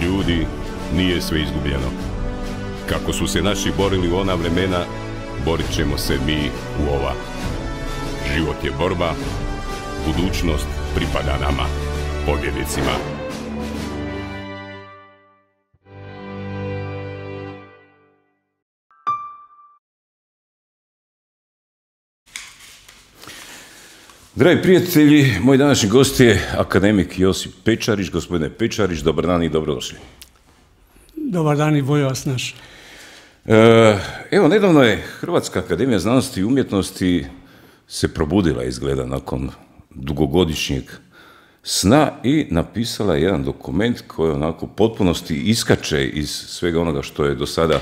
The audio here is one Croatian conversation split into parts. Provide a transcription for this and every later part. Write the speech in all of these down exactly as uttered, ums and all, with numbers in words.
Ljudi, nije sve izgubljeno. Kako su se naši borili u ona vremena, borit ćemo se mi u ova. Život je borba, budućnost pripada nama, pobjednicima. Dragi prijatelji, moj današnji gost je akademik Josip Pečarić. Gospodine Pečarić, dobar dan i dobrodošli. Dobar dan i bolje vas naš. Evo, nedavno je Hrvatska akademija znanosti i umjetnosti se probudila, izgleda, nakon dugogodišnjeg sna i napisala jedan dokument koji onako u potpunosti iskače iz svega onoga što je do sada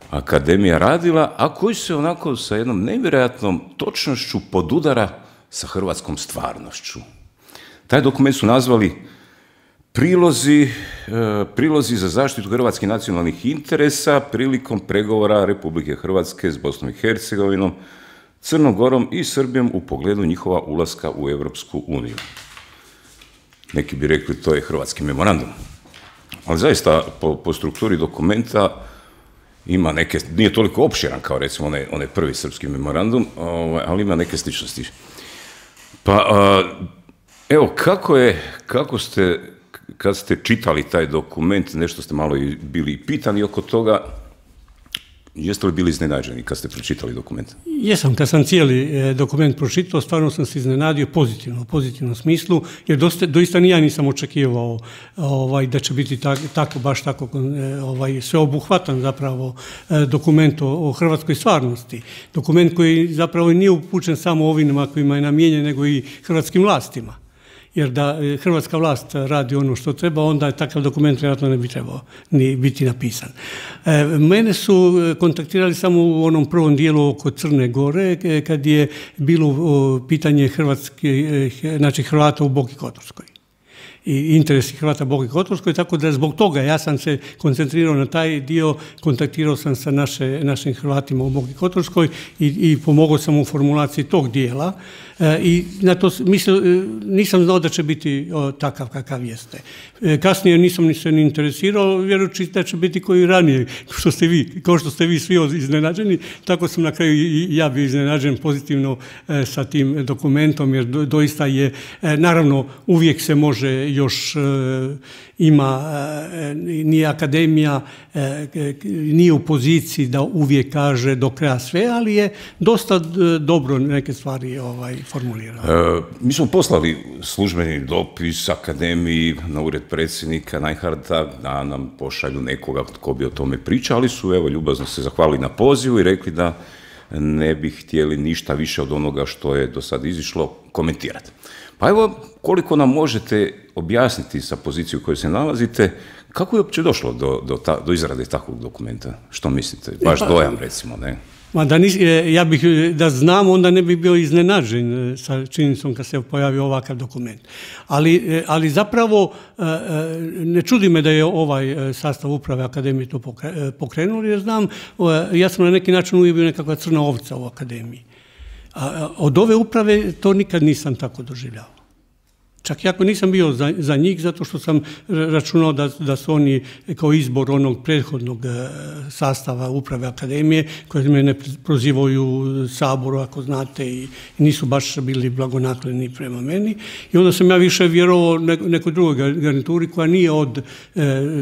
akademija radila, a koji se onako sa jednom nevjerojatnom točnošću podudara sa hrvatskom stvarnošću. Taj dokument su nazvali prilozi, prilozi za zaštitu hrvatskih nacionalnih interesa prilikom pregovora Republike Hrvatske s Bosnom i Hercegovinom, Crnom Gorom i Srbijom u pogledu njihova ulaska u Europsku uniju. Neki bi rekli to je hrvatski memorandum. Ali zaista po, po strukturi dokumenta ima neke, nije toliko opširan kao recimo onaj, onaj prvi srpski memorandum, ali ima neke sličnosti. Pa, evo, kako je, kako ste, kad ste čitali taj dokument, nešto ste malo i bili pitani oko toga, jeste li bili iznenađeni kad ste pročitali dokument? Jesam, kad sam cijeli dokument pročitao, stvarno sam se iznenadio pozitivno, u pozitivnom smislu, jer dosta, doista ni ja nisam očekivao ovaj, da će biti tak, tako, baš tako ovaj, sveobuhvatan zapravo dokument o, o hrvatskoj stvarnosti. Dokument koji zapravo nije upućen samo ovima kojima je namijenjen, nego i hrvatskim vlastima. Jer da hrvatska vlast radi ono što treba, onda je takav dokument vjerojatno ne bi trebao ni biti napisan. E, mene su kontaktirali samo u onom prvom dijelu oko Crne Gore, kad je bilo pitanje hrvatske, znači Hrvata u Boki Kotorskoj i interesi Hrvata Boki Kotorskoj, tako da zbog toga ja sam se koncentrirao na taj dio, kontaktirao sam sa naše, našim Hrvatima u Boki Kotorskoj i, i pomogao sam u formulaciji tog dijela. E, I na to mislim, nisam znao da će biti o, takav kakav jeste. E, kasnije nisam ni se ni interesirao, vjerujući da će biti koji ranije, što ste vi, kao što ste vi svi iznenađeni, tako sam na kraju i ja bio iznenađen pozitivno e, sa tim dokumentom, jer do, doista je, e, naravno, uvijek se može još e, ima, e, nije akademija, e, nije u poziciji da uvijek kaže do kraja sve, ali je dosta d, dobro neke stvari ovaj, formulirao. E, mi smo poslali službeni dopis akademiji na ured predsjednika Najharta da nam pošalju nekoga tko bi o tome pričao, ali su evo ljubazno se zahvalili na pozivu i rekli da ne bi htjeli ništa više od onoga što je do sad izišlo komentirati. Pa evo, koliko nam možete objasniti sa pozicije u kojoj se nalazite, kako je uopće došlo do, do, ta, do izrade takvog dokumenta? Što mislite? Vaš dojam, recimo, ne? Ma da nis, ja bih da znam, onda ne bih bio iznenađen sa činjenicom kad se pojavio ovakav dokument. Ali, ali zapravo ne čudi me da je ovaj sastav uprave akademije to pokrenuli, jer znam, ja sam na neki način uvijek bio nekakva crna ovca u akademiji. A od ove uprave to nikad nisam tako doživljavao. Čak i ako nisam bio za, za njih, zato što sam računao da, da su oni kao izbor onog prethodnog sastava uprave akademije, koje me ne prozivaju Saboru, ako znate, i, i nisu baš bili blagonakloni prema meni. I onda sam ja više vjerovao nekoj drugoj garnituri koja nije od e,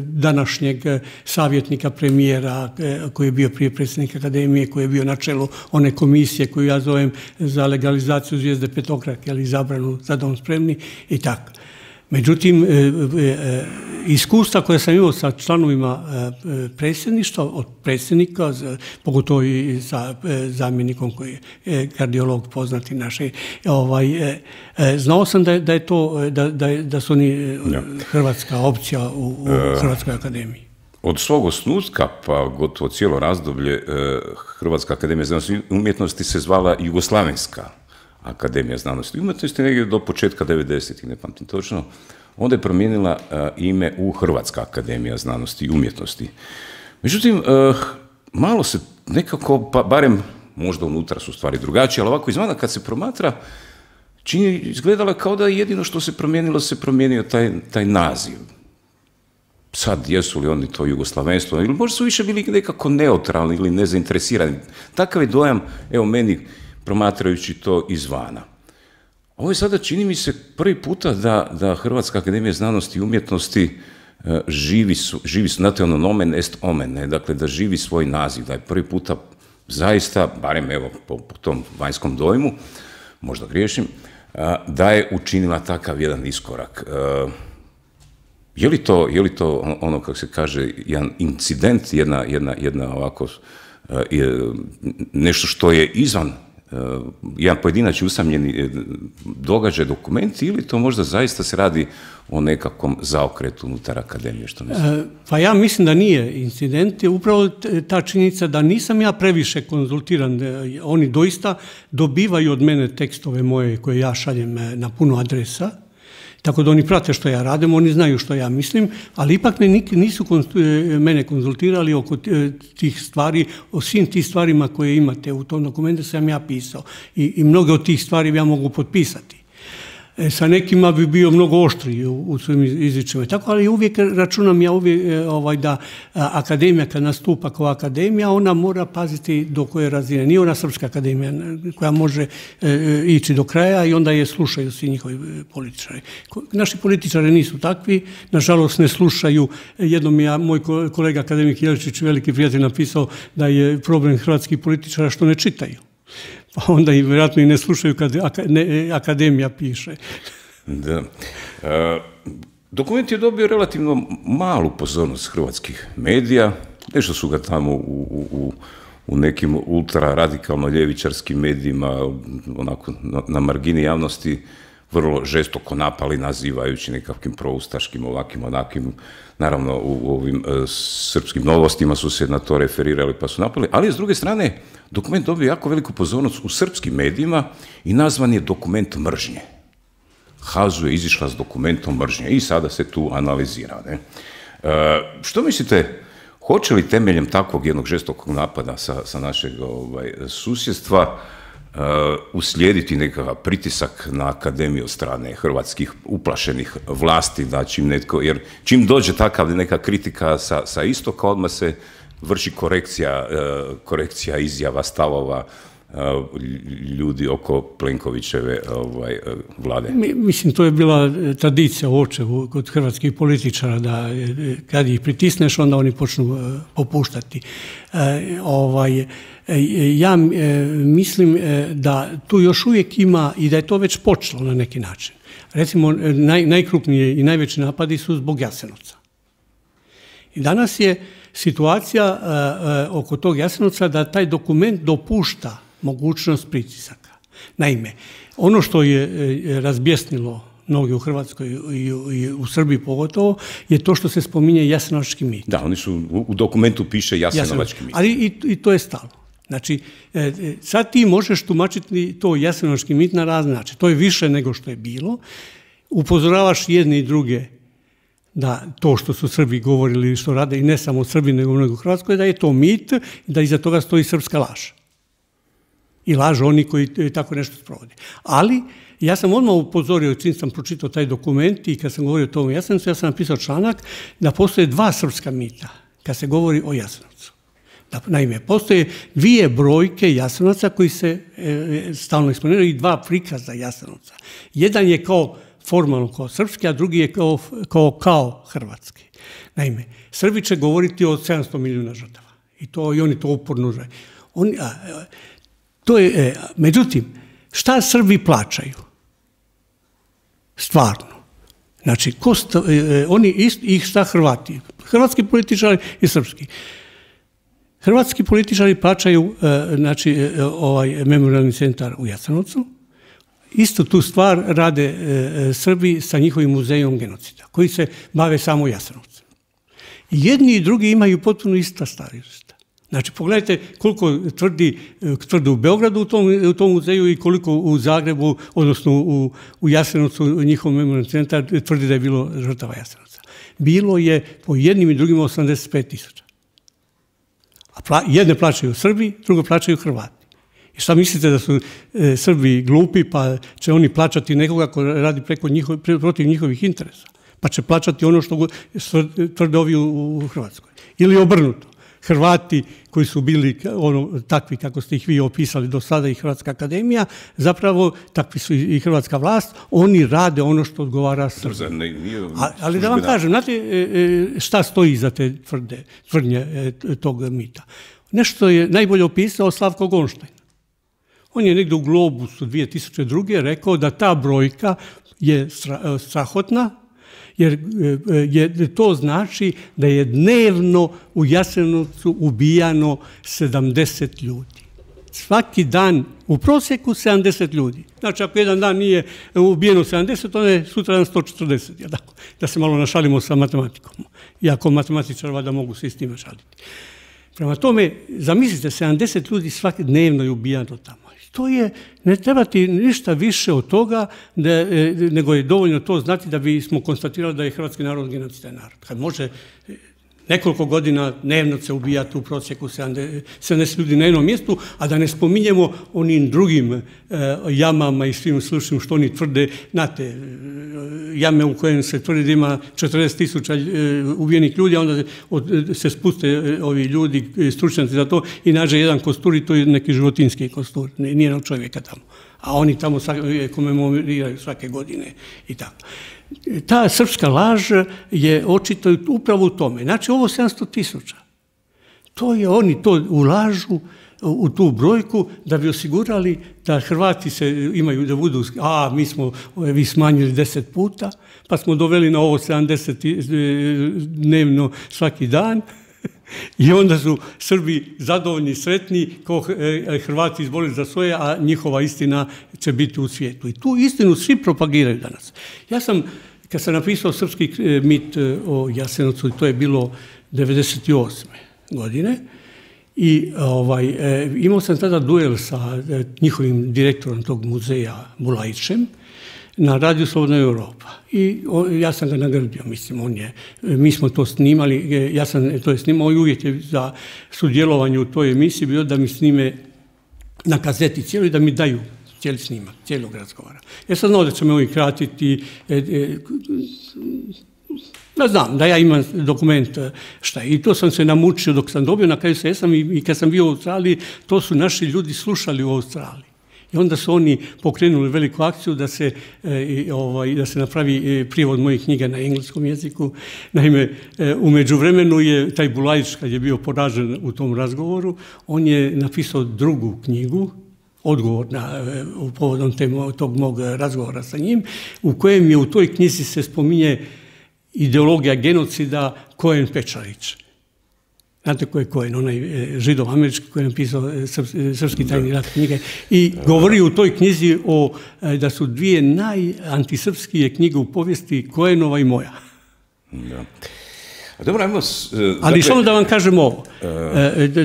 današnjeg savjetnika premijera, e, koji je bio prije predsjednika akademije, koji je bio na čelu one komisije koju ja zovem za legalizaciju zvijezde petokrake, ali zabranu za dom spremni, i tako. Međutim, iskustva koje sam imao sa članovima predsjedništva, od predsjednika, pogotovo i sa zamjenikom koji je kardiolog poznati naše, ovaj, znao sam da je, da je to, da, da, je, da su oni hrvatska opcija u, u Hrvatskoj akademiji. Od svog osnutka, pa gotovo cijelo razdoblje, Hrvatska akademija znanosti i umjetnosti se zvala Jugoslavenska akademija znanosti i umjetnosti negdje do početka devedesetih, ne pamtim točno. Onda je promijenila uh, ime u Hrvatska akademija znanosti i umjetnosti. Međutim, uh, malo se nekako, pa barem možda unutra su stvari drugačije, ali ovako izvana kad se promatra, čini, izgledalo kao da jedino što se promijenilo, se promijenio taj, taj naziv. Sad, jesu li oni to jugoslavenstvo, ili možda su više bili nekako neutralni ili nezainteresirani. Takav je dojam, evo meni, promatrajući to izvana. Ovo je sada, čini mi se, prvi puta da, da Hrvatska akademija znanosti i umjetnosti e, živi, su, živi su, znate ono, nomen est omen, ne? Dakle, da živi svoj naziv, da je prvi puta zaista, barem evo po, po tom vanjskom dojmu, možda griješim, a, da je učinila takav jedan iskorak. A, je li to, je li to ono, kako se kaže, jedan incident, jedna, jedna, jedna ovako, a, je, nešto što je izvan, a, jedan pojedinačni usamljeni događaj, dokument, ili to možda zaista se radi o nekakvom zaokretu unutar akademije, što mislim? Pa ja mislim da nije incident, je upravo ta činjenica da nisam ja previše konzultiran, oni doista dobivaju od mene tekstove moje koje ja šaljem na puno adresa, tako da oni prate što ja radim, oni znaju što ja mislim, ali ipak me nisu mene konzultirali oko tih stvari, o svim tih stvarima koje imate u tom dokumentu sam ja pisao i, i mnoge od tih stvari ja mogu potpisati. E, sa nekima bi bio mnogo oštriji u, u svojim izričima. Tako, ali uvijek računam ja uvijek ovaj, da a, akademija kad nastupa kao akademija, ona mora paziti do koje razine. Nije ona srpska akademija koja može e, ići do kraja i onda je slušaju svi njihovi političari. Naši političari nisu takvi, nažalost ne slušaju. Jednom je moj kolega akademik Jeličić, veliki prijatelj, napisao da je problem hrvatskih političara što ne čitaju. Pa onda i vjerojatno i ne slušaju kad akademija piše. Da. E, dokument je dobio relativno malu pozornost hrvatskih medija. Nešto su ga tamo u, u, u nekim ultra-radikalno-ljevičarskim medijima, onako na, na margini javnosti, vrlo žestoko napali, nazivajući nekakvim proustaškim, ovakvim, onakvim. Naravno, u, u ovim e, srpskim novostima su se na to referirali pa su napali, ali s druge strane, dokument dobio jako veliku pozornost u srpskim medijima i nazvan je dokument mržnje. Hazu je izišla s dokumentom mržnje i sada se tu analizira. Ne? E, što mislite, hoće li temeljem takvog jednog žestokog napada sa, sa našeg ovaj, susjedstva Uh, uslijediti nekakav pritisak na akademiju od strane hrvatskih uplašenih vlasti, da čim netko, jer čim dođe takav neka kritika sa, sa istoka, odmah se vrši korekcija, uh, korekcija izjava, stavova uh, ljudi oko Plenkovićeve ovaj, uh, vlade. Mislim, to je bila tradicija u očevu kod hrvatskih političara, da kad ih pritisneš, onda oni počnu uh, popuštati. Uh, ovaj, Ja mislim da tu još uvijek ima i da je to već počelo na neki način. Recimo, naj, najkrupnije i najveći napadi su zbog Jasenovca. I danas je situacija uh, oko tog Jasenovca da taj dokument dopušta mogućnost pritisaka. Naime, ono što je razbjesnilo mnogi u Hrvatskoj i u, i u Srbiji pogotovo, je to što se spominje jasenovački mit. Da, oni su, u dokumentu piše jasenovački mit. Ali i, i to je stalno. Znači, sad ti možeš tumačiti to jasenovački mit na razne način. To je više nego što je bilo. Upozoravaš jedne i druge da to što su Srbi govorili, što rade, i ne samo Srbi, nego mnogo u Hrvatskoj, da je to mit i da iza toga stoji srpska laž. I laž oni koji tako nešto sprovode. Ali, ja sam odmah upozorio, čim sam pročitao taj dokument i kad sam govorio o tom Jasenovcu, ja sam napisao članak da postoje dva srpska mita kad se govori o Jasenovcu. Da, naime, postoje dvije brojke Jasenovaca koji se e, stalno eksponiraju i dva prikaza Jasenovca. Jedan je kao formalno kao srpski, a drugi je kao, kao, kao hrvatski. Naime, Srbi će govoriti o sedamsto milijuna žrtava. I, to, i oni to uporno žele. Oni, a, to je, e, međutim, šta Srbi plaćaju? Stvarno. Znači, ko sta, e, oni ist, ih šta Hrvati? Hrvatski političari i srpski. Hrvatski političari plaćaju e, znači, e, ovaj memorijalni centar u Jasenovcu. Isto tu stvar rade e, Srbi sa njihovim muzejom genocida, koji se bave samo Jasenovcem. Jedni i drugi imaju potpuno ista stajališta. Znači, pogledajte koliko tvrdi, tvrdi u Beogradu u tom, u tom muzeju i koliko u Zagrebu, odnosno u, u Jasenovcu, njihov memorijalni centar tvrdi da je bilo žrtava Jasenovca. Bilo je po jednim i drugim osamdeset pet tisuća. A pla, jedne plaćaju Srbi, drugo plaćaju Hrvati. I šta mislite da su e, Srbi glupi pa će oni plaćati nekoga ko radi preko njihov, protiv njihovih interesa? Pa će plaćati ono što tvrde ovi u, u Hrvatskoj. Ili obrnuto. Hrvati koji su bili ono, takvi kako ste ih vi opisali do sada i Hrvatska akademija, zapravo takvi su i hrvatska vlast, oni rade ono što odgovara Srbiji. Ali da vam kažem, znate šta stoji iza te tvrde, tvrdnje tog mita? Nešto je najbolje opisao Slavko Gonštajn. On je negdje u Globusu dvije tisuće druge rekao da ta brojka je strahotna, jer je, to znači da je dnevno u Jasenovcu ubijano sedamdeset ljudi. Svaki dan u prosjeku sedamdeset ljudi. Znači, ako jedan dan nije ubijeno sedamdeset, onda je sutra dan sto četrdeset. Ja, da se malo našalimo sa matematikom. Iako matematičar valjda mogu se i s time šaliti. Prema tome, zamislite, sedamdeset ljudi svaki dnevno je ubijano tamo. To je, ne treba ti ništa više od toga, da, nego je dovoljno to znati da bismo konstatirali da je hrvatski narod genocidan narod. Kad može nekoliko godina dnevno se ubijati u prosjeku sedamdeset ljudi na jednom mjestu, a da ne spominjemo onim drugim e, jamama i svim slučnim što oni tvrde, znate, jame u kojem se tvrdi da ima četrdeset tisuća e, ubijenih ljudi, a onda od, se spuste e, ovi ljudi, stručnjaci za to i nađe jedan kostur i to je neki životinski kostur, nije na čovjeka tamo. A oni tamo komemoriraju svake godine i tako. Ta srpska laž je očito upravo u tome. Znači, ovo sedamsto tisuća. To je, oni to ulažu u tu brojku da bi osigurali da Hrvati se imaju da budu, a mi smo vi smanjili deset puta, pa smo doveli na ovo sedamdeset dnevno svaki dan. I onda su Srbi zadovoljni, sretni, kao Hrvati izborili za svoje, a njihova istina će biti u svijetu. I tu istinu svi propagiraju danas. Ja sam, kad sam napisao srpski mit o Jasenovcu, to je bilo devedeset osme godine, i ovaj, imao sam tada duel sa njihovim direktorom tog muzeja Bulajićem, na radiju Slobodna Europa. I on, ja sam ga nagradio, mislim, on je, mi smo to snimali, ja sam to je snimao i uvijek je za sudjelovanje u toj emisiji bio da mi snime na kazeti cijelo i da mi daju cijeli snimak, cijelog razgovora. Ja sam znao da će me ovi kratiti, e, e, ja znam da ja imam dokument šta je. I to sam se namučio dok sam dobio, na kraju se jesam i, i kad sam bio u Australiji, to su naši ljudi slušali u Australiji. I onda su oni pokrenuli veliku akciju da se, e, ovaj, da se napravi prijevod mojih knjiga na engleskom jeziku. Naime, e, u međuvremenu je taj Bulajić, kad je bio poražen u tom razgovoru, on je napisao drugu knjigu, odgovor na, e, u povodom temo, tog mog razgovora sa njim, u kojem je u toj knjizi se spominje ideologija genocida Koen Pečarić. Znate ko je Koen, onaj židov američki koji je napisao Srpski tajni rat knjige i govori u toj knjizi o, da su dvije najantisrpskije knjige u povijesti Koenova i moja. Da. Dobro, ajmo... Ali samo da vam kažem ovo,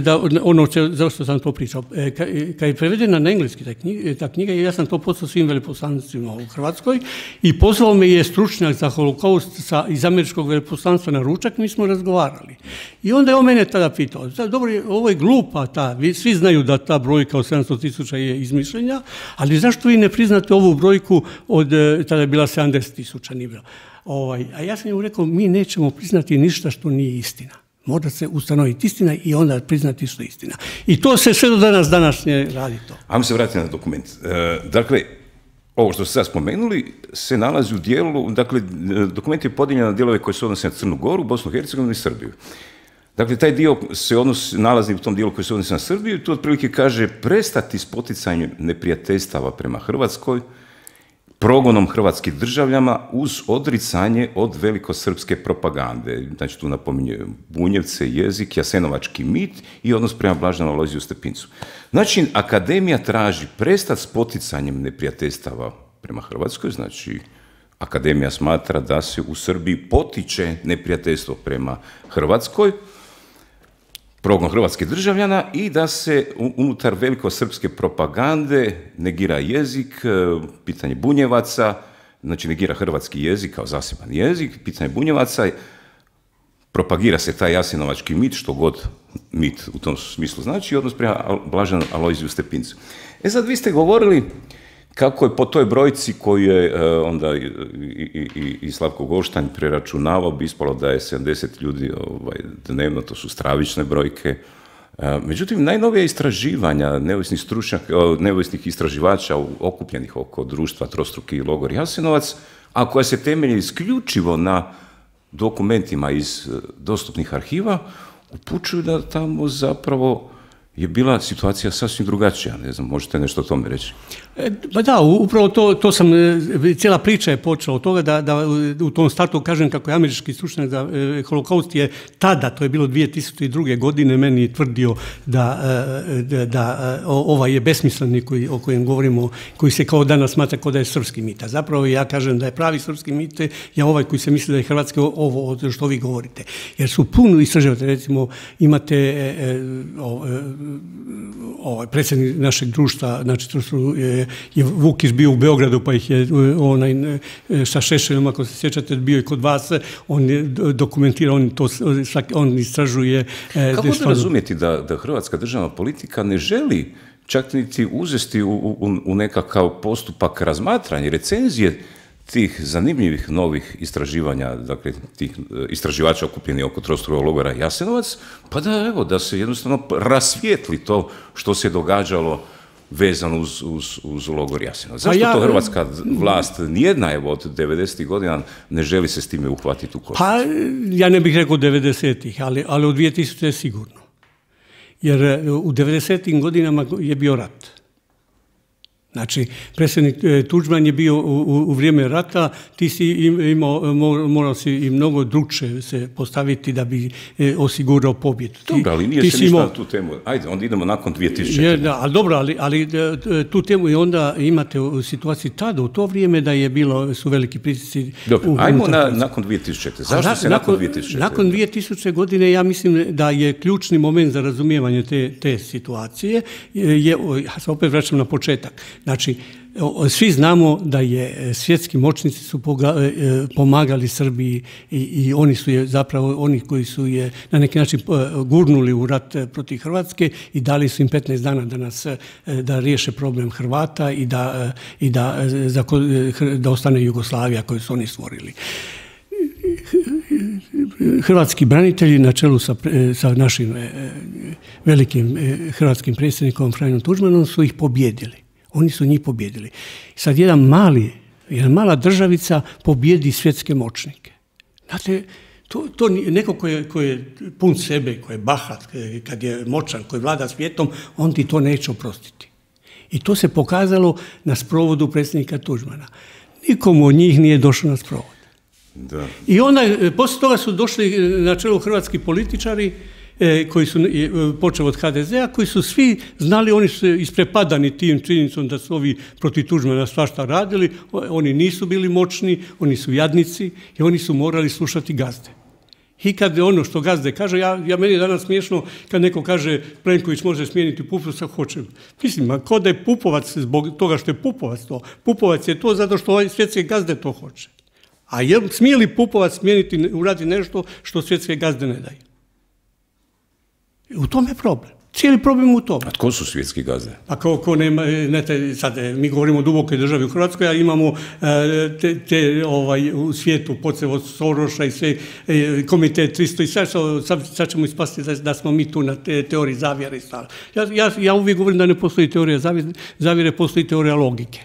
da, ono za što sam to pričao. Kad je prevedena na engleski ta knjiga, ta knjiga, ja sam to poslao svim veleposlanicima u Hrvatskoj i pozvao me je stručnjak za holokaust sa, iz američkog veleposlanstva na ručak, mi smo razgovarali. I onda je on mene tada pitao, dobro, ovo je glupa ta, svi znaju da ta brojka od sedamsto tisuća je izmišljenja, ali zašto vi ne priznate ovu brojku od, tada je bila sedamdeset tisuća, nije bila. Ovaj, a ja sam joj rekao, mi nećemo priznati ništa što nije istina. Mora se ustanoviti istina i onda priznati što je istina. I to se sve do danas današnje radi to. Ajmo se vratiti na dokument. E, dakle, ovo što ste sad spomenuli se nalazi u dijelu, dakle, dokument je podijeljen na dijelove koji se odnose na Crnu Goru, Bosnu i Hercegovinu i Srbiju. Dakle, taj dio se odnosi, nalazi u tom dijelu koji se odnosi na Srbiju i tu otprilike kaže prestati s poticanjem neprijateljstava prema Hrvatskoj, progonom hrvatskih državljana uz odricanje od velikosrpske propagande. Znači, tu napominje Bunjevce, jezik, jasenovački mit i odnos prema Blaženom Alojziju Stepincu. Znači, akademija traži prestati s poticanjem neprijateljstava prema Hrvatskoj, znači, akademija smatra da se u Srbiji potiče neprijateljstvo prema Hrvatskoj, progon hrvatskih državljana i da se unutar velikosrpske propagande negira jezik, pitanje Bunjevaca, znači negira hrvatski jezik kao zaseban jezik, pitanje Bunjevaca, propagira se taj jasenovački mit, što god mit u tom smislu znači, odnos prema Blaženom Alojziju Stepincu. E sad, vi ste govorili kako je po toj brojci koju je uh, onda i, i, i, i Slavko Goštanj preračunavao, bi ispalo da je sedamdeset ljudi ovaj, dnevno, to su stravične brojke. Uh, međutim, najnovija istraživanja neovisnih stručnjaka, neovisnih istraživača okupljenih oko društva Trostruki logor Jasenovac, a koja se temelji isključivo na dokumentima iz dostupnih arhiva, upućuju da tamo zapravo je bila situacija sasvim drugačija. Ne znam, možete nešto o tome reći? Pa da, upravo to, to sam, cijela priča je počela od toga da, da u tom startu kažem kako je američki stručnjak za holokaust je tada, to je bilo dvije tisuće druge. godine, meni tvrdio da, da, da ovaj je besmisleni koji, o kojem govorimo, koji se kao danas smatra kao da je srpski mit. A zapravo ja kažem da je pravi srpski mit je ovaj koji se misli da je hrvatski ovo što vi govorite. Jer su puno istraživati, recimo imate ovaj predsjednik našeg društva, znači to su je, je Vukić bio u Beogradu, pa ih je onaj sa Šešeljom, ako se sjećate, bio i kod vas, on je dokumentirao, on to on istražuje. Kako da razumjeti da, da hrvatska državna politika ne želi čak niti uzesti u, u, u nekakav postupak razmatranja, recenzije tih zanimljivih novih istraživanja, dakle tih istraživača okupljenih oko Trostrukog logora Jasenovac, pa da, evo, da se jednostavno rasvijetli to što se događalo vezano uz, uz, uz logor Jasenovac. Zašto ja, to hrvatska vlast, nijedna evo od devedesetih godina, ne želi se s time uhvatiti u koštac? Pa ja ne bih rekao devedesetih, ali, ali u dvije tisuće sigurno. Jer u devedesetim godinama je bio rat. Znači, predsjednik Tuđman je bio u, u vrijeme rata, ti si imao, morao si i mnogo drugče se postaviti da bi osigurao pobjedu. Dobro, ali nije se ništa imao... na tu temu. Ajde, onda idemo nakon dvije tisuće. Je, da, ali dobro, ali, ali tu temu i onda imate u situaciji tada, u to vrijeme da je bilo, su veliki pritisci. Dobro, u, ajmo na, nakon dvije tisućite. Zašto na, se nakon dvije tisućite? Nakon dvije tisuće. godine ja mislim da je ključni moment za razumijevanje te, te situacije, je, ja se opet vraćam na početak. Znači, svi znamo da je svjetski moćnici su pomagali Srbiji i, i oni su je zapravo, oni koji su je na neki način gurnuli u rat protiv Hrvatske i dali su im petnaest dana da nas, da riješe problem Hrvata i da, i da, da, da ostane Jugoslavija koju su oni stvorili. Hrvatski branitelji na čelu sa, sa našim velikim hrvatskim predsjednikom Franjom Tuđmanom su ih pobjedili. Oni su njih pobjedili. Sad jedan mali, jedna mala državica pobjedi svjetske moćnike. Znate, to, to neko ko je, ko je pun sebe, ko je bahat, kad je moćan, koji vlada svijetom, on ti to neće oprostiti. I to se pokazalo na sprovodu predsjednika Tuđmana. Nikomu od njih nije došlo na sprovod. Da. I onda, poslije toga su došli na čelu hrvatski političari, koji su počeli od ha de zea, koji su svi znali, oni su isprepadani tim činjenicom da su ovi protiv Tuđmana svašta radili, oni nisu bili moćni, oni su jadnici i oni su morali slušati gazde. I kad ono što gazde kaže, ja, ja meni je danas smiješno kad neko kaže Plenković može smijeniti Pupovca, hoće. Mislim, a ko da je Pupovac zbog toga što je Pupovac to? Pupovac je to zato što ovaj svjetske gazde to hoće. A je, smije li Pupovac smijeniti, uraditi nešto što svjetske gazde ne daju? U tome je problem. Cijeli problem u tome. A tko su svjetski gazde? Pa ko, ko nema, ne te, sad mi govorimo o dubokoj državi u Hrvatskoj, a imamo te, te ovaj, u svijetu pocev od Soroša i sve, komitet tristo i sad, sad, sad ćemo ispasti da, da smo mi tu na te, teoriji zavjere. Ja, ja, ja uvijek govorim da ne postoji teorija zavjere, zavjere postoji teorija logike.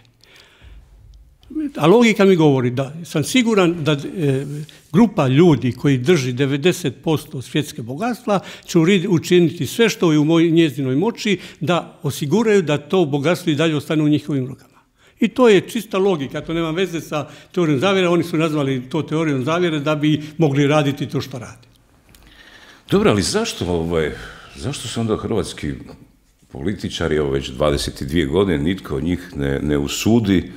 A logika mi govori da sam siguran da e, grupa ljudi koji drži devedeset posto svjetske bogatstva će učiniti sve što je u moj, njezinoj moći da osiguraju da to bogatstvo i dalje ostane u njihovim rukama. I to je čista logika, to nema veze sa teorijom zavjere, oni su nazvali to teorijom zavjere da bi mogli raditi to što rade. Dobro, ali zašto, ovaj, zašto se onda hrvatski političari, evo već dvadeset dvije godine, nitko od njih ne, ne usudi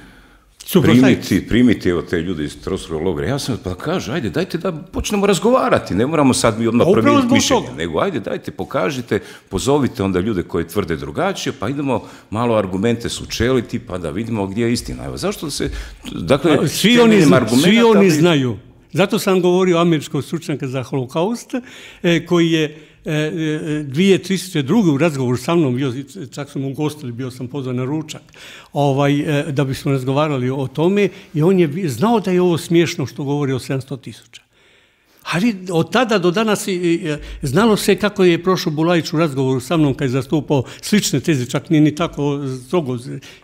primiti, primiti evo te ljude iz Trostrukog logora. Ja sam pa kaže, ajde, dajte da počnemo razgovarati, ne moramo sad mi odmah promijeniti mišljenje, nego ajde, dajte, pokažite, pozovite onda ljude koji tvrde drugačije, pa idemo malo argumente sučeliti, pa da vidimo gdje je istina. Evo, zašto se, dakle, svi oni, zna, svi oni znaju, Zato sam govorio o američkog stručnjaka za holokaust, koji je dvije tisuće druge u razgovoru sa mnom, bio, čak smo ugostili, bio sam pozvan na ručak, ovaj, da bismo razgovarali o tome, i on je znao da je ovo smiješno što govori o sedamsto tisuća. Ali od tada do danas znalo se kako je prošao Bulajić u razgovoru sa mnom kad je zastupao slične teze, čak nije ni tako strogo,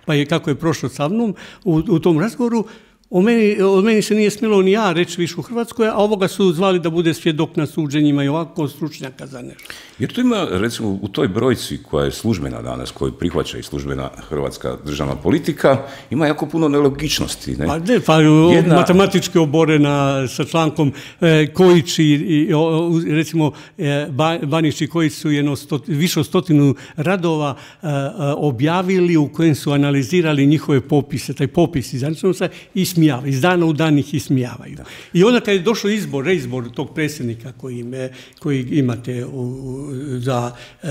pa je kako je prošao sa mnom u, u tom razgovoru. O meni, o meni se nije smjelo ni ja reći više u Hrvatskoj, a ovoga su zvali da bude svjedok na suđenjima i ovako stručnjaka za nešto. Jer tu ima, recimo, u toj brojci koja je službena danas, koju prihvaća i službena hrvatska državna politika, ima jako puno nelogičnosti. Ne? Pa ne, pa Jedna... matematički oborena sa člankom e, Kojić i, o, recimo, e, Banić i Kojić su jedno sto, više od stotinu radova e, objavili u kojem su analizirali njihove popise, taj popis iz Ančenovca, i smijava, iz dana u dan ih ismijavaju. Da. I onda kad je došao izbor, reizbor tog predsjednika koji, me, koji imate u, za e,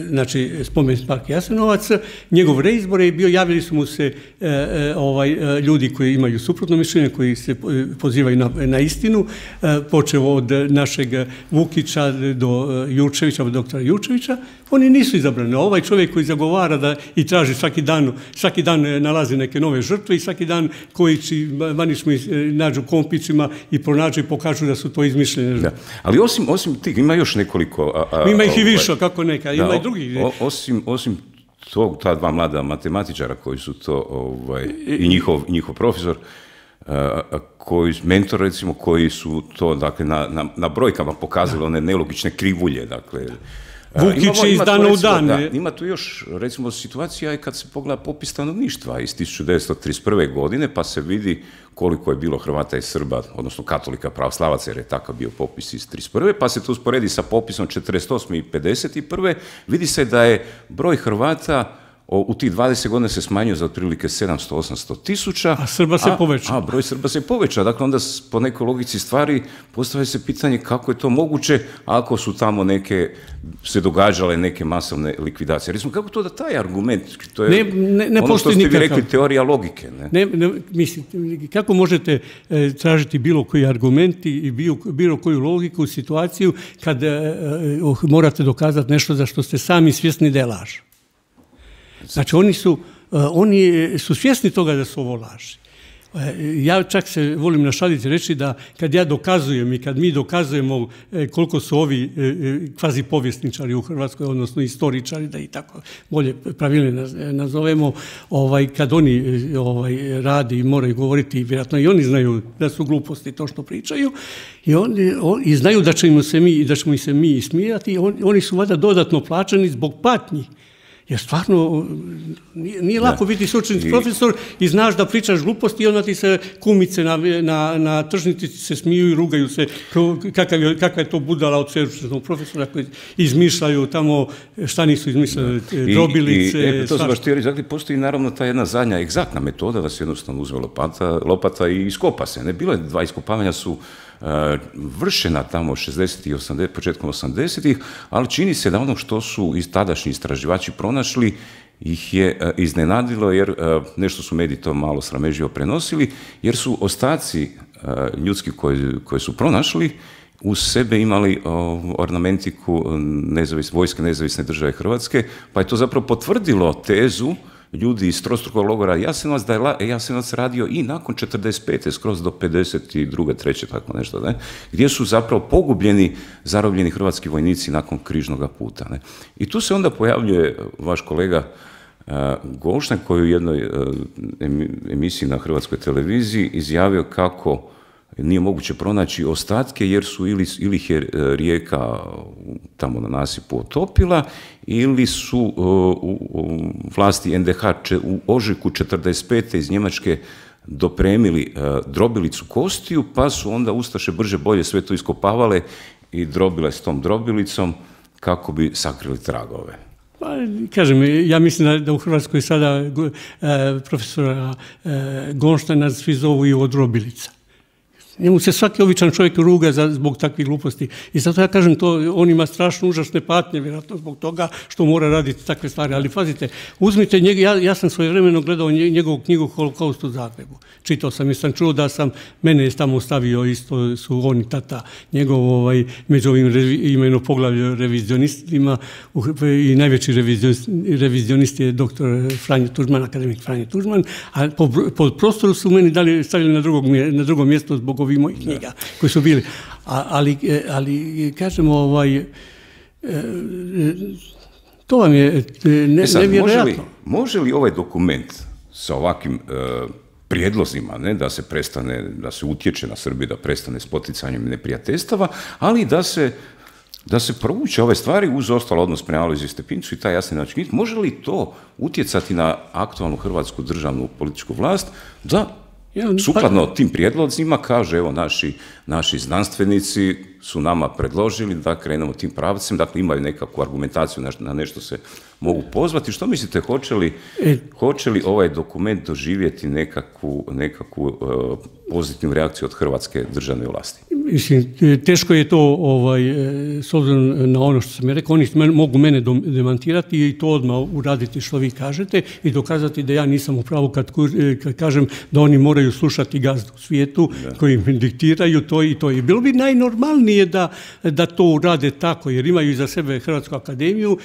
znači, spomen park Jasenovac, njegov reizbor je bio, javili su mu se e, e, ovaj, ljudi koji imaju suprotno mišljenje, koji se pozivaju na, na istinu, e, počeo od našeg Vukića do Jurčevića, od doktora Jurčevića, oni nisu izabrani. Ovaj čovjek koji zagovara da i traži svaki dan, svaki dan nalazi neke nove žrtve i svaki dan koji i Banić mi nađu kompićima i pronađu i pokažu da su to izmišljene. Da. Ali osim, osim tih, ima još nekoliko... A, a, ima ih i više, kako neka, ima da, i drugih. O, osim, osim tog, ta dva mlada matematičara koji su to, ovaj, i njihov, njihov profesor, a, koji, mentor recimo, koji su to, dakle, na, na, na brojkama pokazali one nelogične krivulje, dakle... Vukić iz dana u dan. Da, ima tu još, recimo, situacija i kad se pogleda popis stanovništva iz tisuću devetsto trideset prve. godine, pa se vidi koliko je bilo Hrvata i Srba, odnosno katolika, pravoslavaca, jer je takav bio popis iz trideset prve. Pa se to usporedi sa popisom četrdeset osme i pedeset prve. Vidi se da je broj Hrvata u tih dvadeset godina se smanjio za otprilike sedamsto osamsto tisuća. A Srba se poveća. A broj Srba se poveća. Dakle, onda po nekoj logici stvari postavlja se pitanje kako je to moguće ako su tamo neke, se događale neke masovne likvidacije. Recimo, kako to da taj argument, to je ne, ne, ne ono što ste vi rekli, teorija logike. Ne? Ne, ne, mislim, kako možete e, tražiti bilo koji argument i bilo, bilo koju logiku u situaciju kad e, e, morate dokazati nešto za što ste sami svjesni da je laž? Znači, oni su, oni su svjesni toga da su ovo laži. Ja čak se volim našaliti reći da kad ja dokazujem i kad mi dokazujemo koliko su ovi kvazi povjesničari u Hrvatskoj, odnosno istoričari, da i tako bolje pravilno nazovemo, ovaj, kad oni ovaj, radi i moraju govoriti, vjerojatno i oni znaju da su gluposti to što pričaju, i, oni, on, i znaju da ćemo se mi, da ćemo se mi ismijati, on, oni su valjda dodatno plaćeni zbog patnji. Jer stvarno nije, nije lako da. biti sveučilišni profesor i znaš da pričaš gluposti i onda ti se kumice na, na, na tržnici se smiju i rugaju se kakav je, kakva je to budala od sveučilišnog profesora koji izmišljaju tamo šta nisu izmišljali, drobilice. I, i, e, to su baš ti reći, postoji naravno ta jedna zadnja egzaktna metoda da se jednostavno uzme lopata, lopata i iskopa se. Ne? Bilo je dva iskopavanja su Uh, vršena tamo šezdesetih i osamdesetih, početkom osamdesetih, ali čini se da ono što su iz tadašnji istraživači pronašli ih je uh, iznenadilo, jer uh, nešto su mediji to malo sramežljivo prenosili, jer su ostaci uh, ljudski koji, koji su pronašli uz sebe imali uh, ornamentiku nezavis, vojske nezavisne države Hrvatske, pa je to zapravo potvrdilo tezu ljudi iz trostrukog logora Jasenovac, da je Jasenovac radio i nakon četrdeset pete skroz do pedeset druge, treće tako nešto, ne? Gdje su zapravo pogubljeni, zarobljeni hrvatski vojnici nakon križnog puta. Ne? I tu se onda pojavljuje vaš kolega uh, Golštan, koji u jednoj uh, emisiji na Hrvatskoj televiziji izjavio kako nije moguće pronaći ostatke jer su ili, ili ih je rijeka tamo na nasipu otopila ili su uh, u, u vlasti en de ha če, u ožujku četrdeset pete iz Njemačke dopremili uh, drobilicu kostiju, pa su onda ustaše brže bolje sve to iskopavale i drobile s tom drobilicom kako bi sakrili tragove. Pa, kažem, ja mislim da u Hrvatskoj sada e, profesora e, Gonštana svi zovu i od drobilica. Njemu se svaki običan čovjek ruga za, zbog takvih gluposti. I zato ja kažem, to, on ima strašno užasne patnje, vjerojatno zbog toga što mora raditi takve stvari. Ali pazite, uzmite njega, ja, ja sam svojevremeno gledao njegovu knjigu Holokaust u Zagrebu. Čitao sam i sam čuo da sam, mene je tamo stavio isto, su on i tata njegov, ovaj, među ovim revi, imeno poglavlje revizionistima i najveći revizionist, revizionist je doktor Franjo Tuđman, akademik Franjo Tuđman, a po, po prostoru su meni dali, stavili na, drugog, na drugo mjesto zbog ovih mojih knjiga koji su bili. A, ali, ali, kažemo, ovaj, to vam je ne, e sad, nevjerojatno. Može li, može li ovaj dokument sa ovakvim uh, prijedlozima, ne, da se prestane, da se utječe na Srbiju, da prestane s poticanjem neprijateljstava, ali da se da se provuče ove stvari uz ostalo odnos prema Alojziju Stepincu i taj jasni način. Može li to utjecati na aktualnu hrvatsku državnu političku vlast da sukladno tim prijedlozima kaže, evo, naši, naši znanstvenici su nama predložili da krenemo tim pravcem, dakle imaju nekakvu argumentaciju, na, na nešto se mogu pozvati. Što mislite, hoće li, e, hoće li ovaj dokument doživjeti nekakvu, nekakvu uh, pozitivnu reakciju od hrvatske državne vlasti? Mislim, teško je to, ovaj, s obzirom na ono što sam je rekao, oni mogu mene demantirati i to odmah uraditi što vi kažete i dokazati da ja nisam u pravu kad, kad kažem da oni moraju slušati gazdu u svijetu da. Koji im diktiraju to i to. I bilo bi najnormalnije da, da to urade tako, jer imaju iza sebe Hrvatsku akademiju,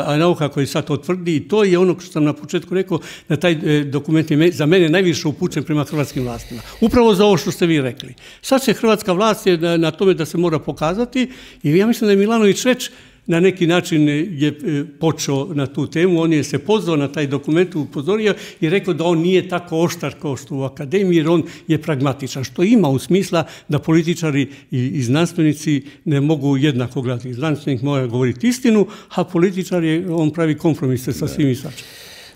a nauka koja sad to tvrdi i to je ono što sam na početku rekao, da taj dokument je za mene najviše upućen prema hrvatskim vlastima. Upravo za ovo što ste vi rekli. Sad se hrvatska vlast je na, na tome da se mora pokazati i ja mislim da je Milanović već na neki način je počeo na tu temu, on je se pozvao na taj dokument, upozorio i rekao da on nije tako oštar kao što u akademiji, jer on je pragmatičan, što ima u smisla da političari i, i znanstvenici ne mogu jednako gledati. Znanstvenik mora govoriti istinu, a političar je, on pravi kompromise sa svim i svačim.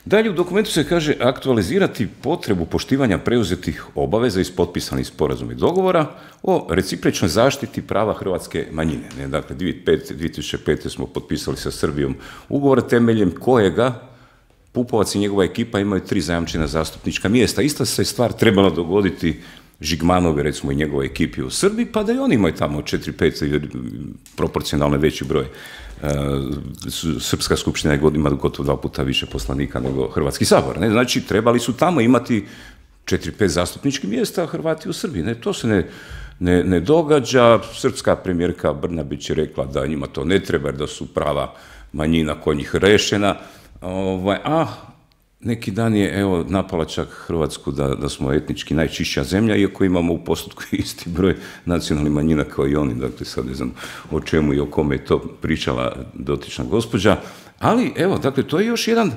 Dalje u dokumentu se kaže aktualizirati potrebu poštivanja preuzetih obaveza iz potpisanih sporazuma i dogovora o recipročnoj zaštiti prava hrvatske manjine. Ne, dakle, dvije tisuće pete. smo potpisali sa Srbijom ugovor temeljem kojega Pupovac i njegova ekipa imaju tri zajamčena zastupnička mjesta. Ista se stvar trebala dogoditi Žigmanove, recimo, i njegove ekipi u Srbiji, pa da i oni imaju tamo četiri pet proporcionalno veći broj. Srpska skupština ima gotovo dva puta više poslanika nego Hrvatski sabor. Ne? Znači, trebali su tamo imati četiri pet zastupničkih mjesta, Hrvati u Srbiji. Ne? To se ne, ne, ne događa. Srpska premijerka Brnabić je rekla da njima to ne treba, jer da su prava manjina kod njih rešena. Ovaj, a neki dan je, evo, napala čak Hrvatsku da, da smo etnički najčišća zemlja, iako imamo u postotku isti broj nacionalnih manjina kao i oni. Dakle, sad ne znam o čemu i o kome je to pričala dotična gospođa. Ali, evo, dakle, to je još jedan,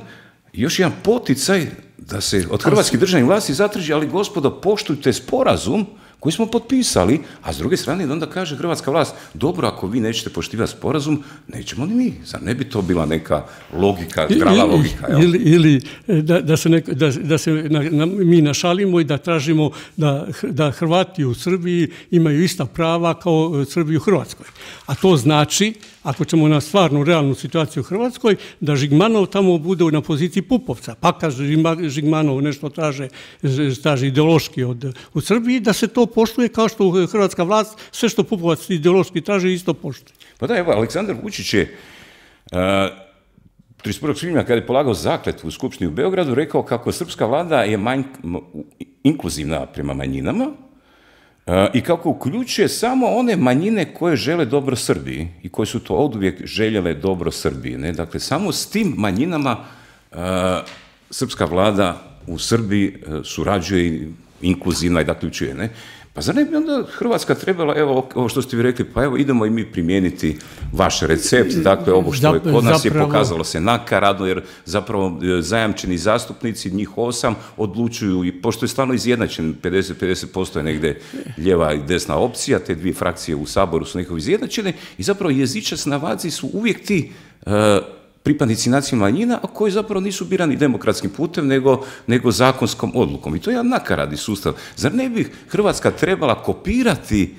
još jedan poticaj da se od hrvatskih državnih vlasti zatraži, ali gospodo, poštujte sporazum koji smo potpisali, a s druge strane onda kaže hrvatska vlast, dobro, ako vi nećete poštivati sporazum, nećemo ni mi. Zar ne bi to bila neka logika, zdrava logika? Jel? Ili, ili da, da se, neko, da, da se na, na, mi našalimo i da tražimo da, da Hrvati u Srbiji imaju ista prava kao Srbi u Hrvatskoj. A to znači, ako ćemo na stvarnu, realnu situaciju u Hrvatskoj, da Žigmanov tamo bude na poziciji Pupovca. Pa kad Žigmanov nešto traže, traže ideološki od, u Srbiji, da se to poštuje kao što hrvatska vlast, sve što Pupovac ideološki traže, isto poštuje. Pa da, evo, Aleksandar Vučić je uh, trideset prvog svibnja kada je polagao zakletvu u Skupštini u Beogradu, rekao kako srpska vlada je manj, inkluzivna prema manjinama uh, i kako uključuje samo one manjine koje žele dobro Srbiji i koje su to oduvijek željele dobro Srbiji. Ne? Dakle, samo s tim manjinama uh, srpska vlada u Srbiji uh, surađuje i inkluzivna i dakle učuje, ne? Pa zar ne bi onda Hrvatska trebala, evo, ovo što ste vi rekli, pa evo idemo i mi primijeniti vaš recept, dakle ovo što je kod nas je pokazalo se nakaradno, jer zapravo zajamčeni zastupnici, njih osam, odlučuju, i pošto je stvarno izjednačen, pedeset pedeset posto je negdje lijeva i desna opcija, te dvije frakcije u Saboru su nekako izjednačene i zapravo jezičac na vadzi su uvijek ti uh, pripadnici nacionalnih manjina, a koji zapravo nisu birani demokratskim putem, nego, nego zakonskom odlukom. I to je jedan nakaradni sustav. Zar ne bi Hrvatska trebala kopirati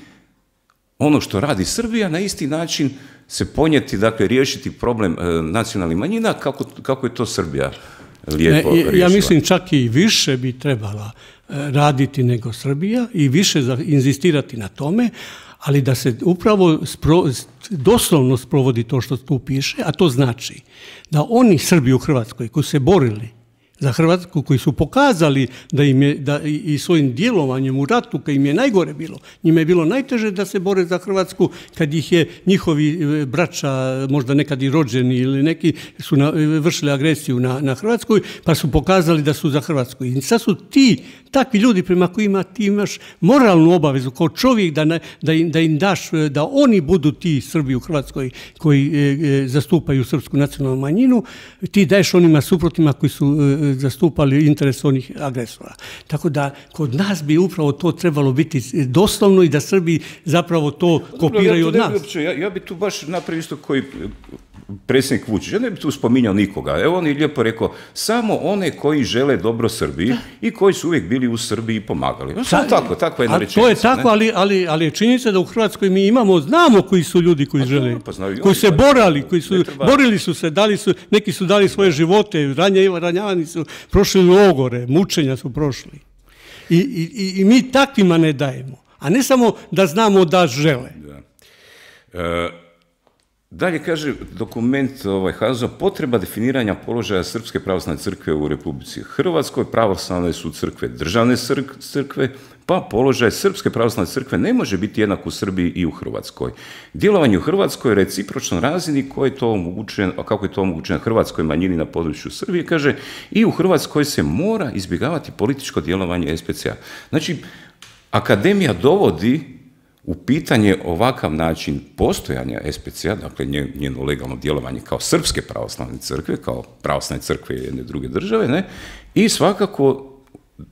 ono što radi Srbija, na isti način se ponijeti, dakle, riješiti problem e, nacionalnih manjina, kako, kako je to Srbija lijepo ne, riješila. Ja mislim čak i više bi trebala raditi nego Srbija i više inzistirati na tome, ali da se upravo spro, doslovno sprovodi to što tu piše, a to znači da oni Srbi u Hrvatskoj koji se borili za Hrvatsku, koji su pokazali da im je, da i svojim djelovanjem u ratu, kad im je najgore bilo, njima je bilo najteže da se bore za Hrvatsku, kad ih je njihovi braća, možda nekad i rođeni ili neki, su na, vršili agresiju na, na Hrvatskoj, pa su pokazali da su za Hrvatsku. I sad su ti, takvi ljudi prema kojima ti imaš moralnu obavezu kao čovjek da, ne, da, im, da im daš, da oni budu ti Srbi u Hrvatskoj koji e, e, zastupaju srpsku nacionalnu manjinu, ti daješ onima suprotima koji su e, zastupali interes onih agresora. Tako da kod nas bi upravo to trebalo biti doslovno i da Srbi zapravo to kopiraju od nas. Ja, ja bi tu baš napravio isto koji predsjednik Vučić. Ja ne bi tu spominjao nikoga. Evo on je lijepo rekao, samo one koji žele dobro Srbiji i koji su uvijek bili u Srbiji i pomagali. Ja, samo tako, takva jedna rečenica. To je tako, ali, ali, ali je činjenica da u Hrvatskoj mi imamo, znamo koji su ljudi koji žele, pa znaju, koji se borali, koji su, borili su se, dali su, neki su dali svoje živote, ranja, ranjavani su, prošli logore, mučenja su prošli. I, i, i mi takvima ne dajemo, a ne samo da znamo da žele. Da. E, dalje kaže dokument ovaj, H A Z O, potreba definiranja položaja Srpske pravoslavne crkve u Republici Hrvatskoj, pravoslavne su crkve državne crkve, pa položaj Srpske pravoslavne crkve ne može biti jednak u Srbiji i u Hrvatskoj. Djelovanje u Hrvatskoj je recipročno razini koji je to omogućen, a kako je to omogućeno hrvatskoj manjini na području Srbije, kaže, i u Hrvatskoj se mora izbjegavati političko djelovanje S P C A. Znači, akademija dovodi u pitanje ovakav način postojanja S P C A, dakle njeno legalno djelovanje kao Srpske pravoslavne crkve, kao pravoslavne crkve jedne druge države, ne, i svakako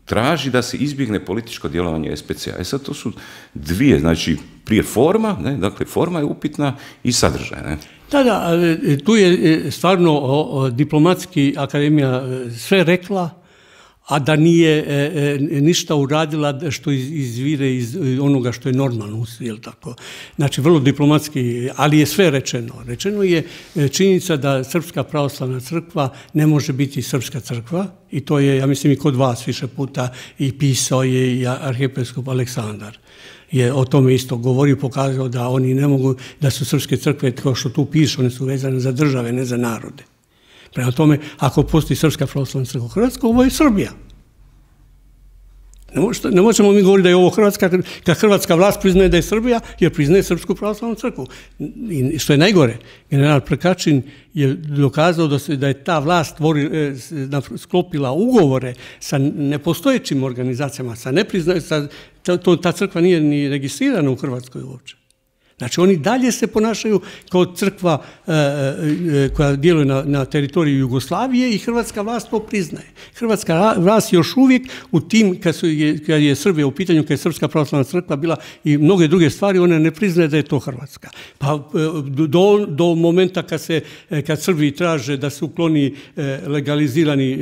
traži da se izbjegne političko djelovanje S P C A. E sad to su dvije, znači prije forma, ne, dakle forma je upitna i sadržaj. Ne. Da, da, tu je stvarno o, o, diplomatski akademija sve rekla, a da nije e, e, ništa uradila što iz, izvire iz onoga što je normalno, jel tako? Znači, vrlo diplomatski, ali je sve rečeno. Rečeno je činjenica da Srpska pravoslavna crkva ne može biti srpska crkva i to je, ja mislim, i kod vas više puta i pisao je i arhijepiskop Aleksandar. Je o tome isto govorio, pokazao da oni ne mogu, da su srpske crkve, kao što tu piše, one su vezane za države, ne za narode. Prema tome, ako postoji Srpska pravoslavna crkva u Hrvatskoj, ovo je Srbija. Ne, možete, ne možemo mi govoriti da je ovo Hrvatska, kad hrvatska vlast priznaje da je Srbija, jer priznaje Srpsku pravoslavnu crkvu. I što je najgore, general Prkačin je dokazao da, se, da je ta vlast tvori, sklopila ugovore sa nepostojećim organizacijama, sa nepriznaj, sa, to, ta crkva nije ni registrirana u Hrvatskoj uopće. Znači, oni dalje se ponašaju kao crkva e, e, koja djeluje na, na teritoriju Jugoslavije i hrvatska vlast to priznaje. Hrvatska vlast još uvijek u tim, kad, su, je, kad je Srbija u pitanju, kad je Srpska pravoslavna crkva bila i mnoge druge stvari, ona ne priznaje da je to Hrvatska. Pa do, do momenta kad, se, kad Srbiji traže da se ukloni legalizirani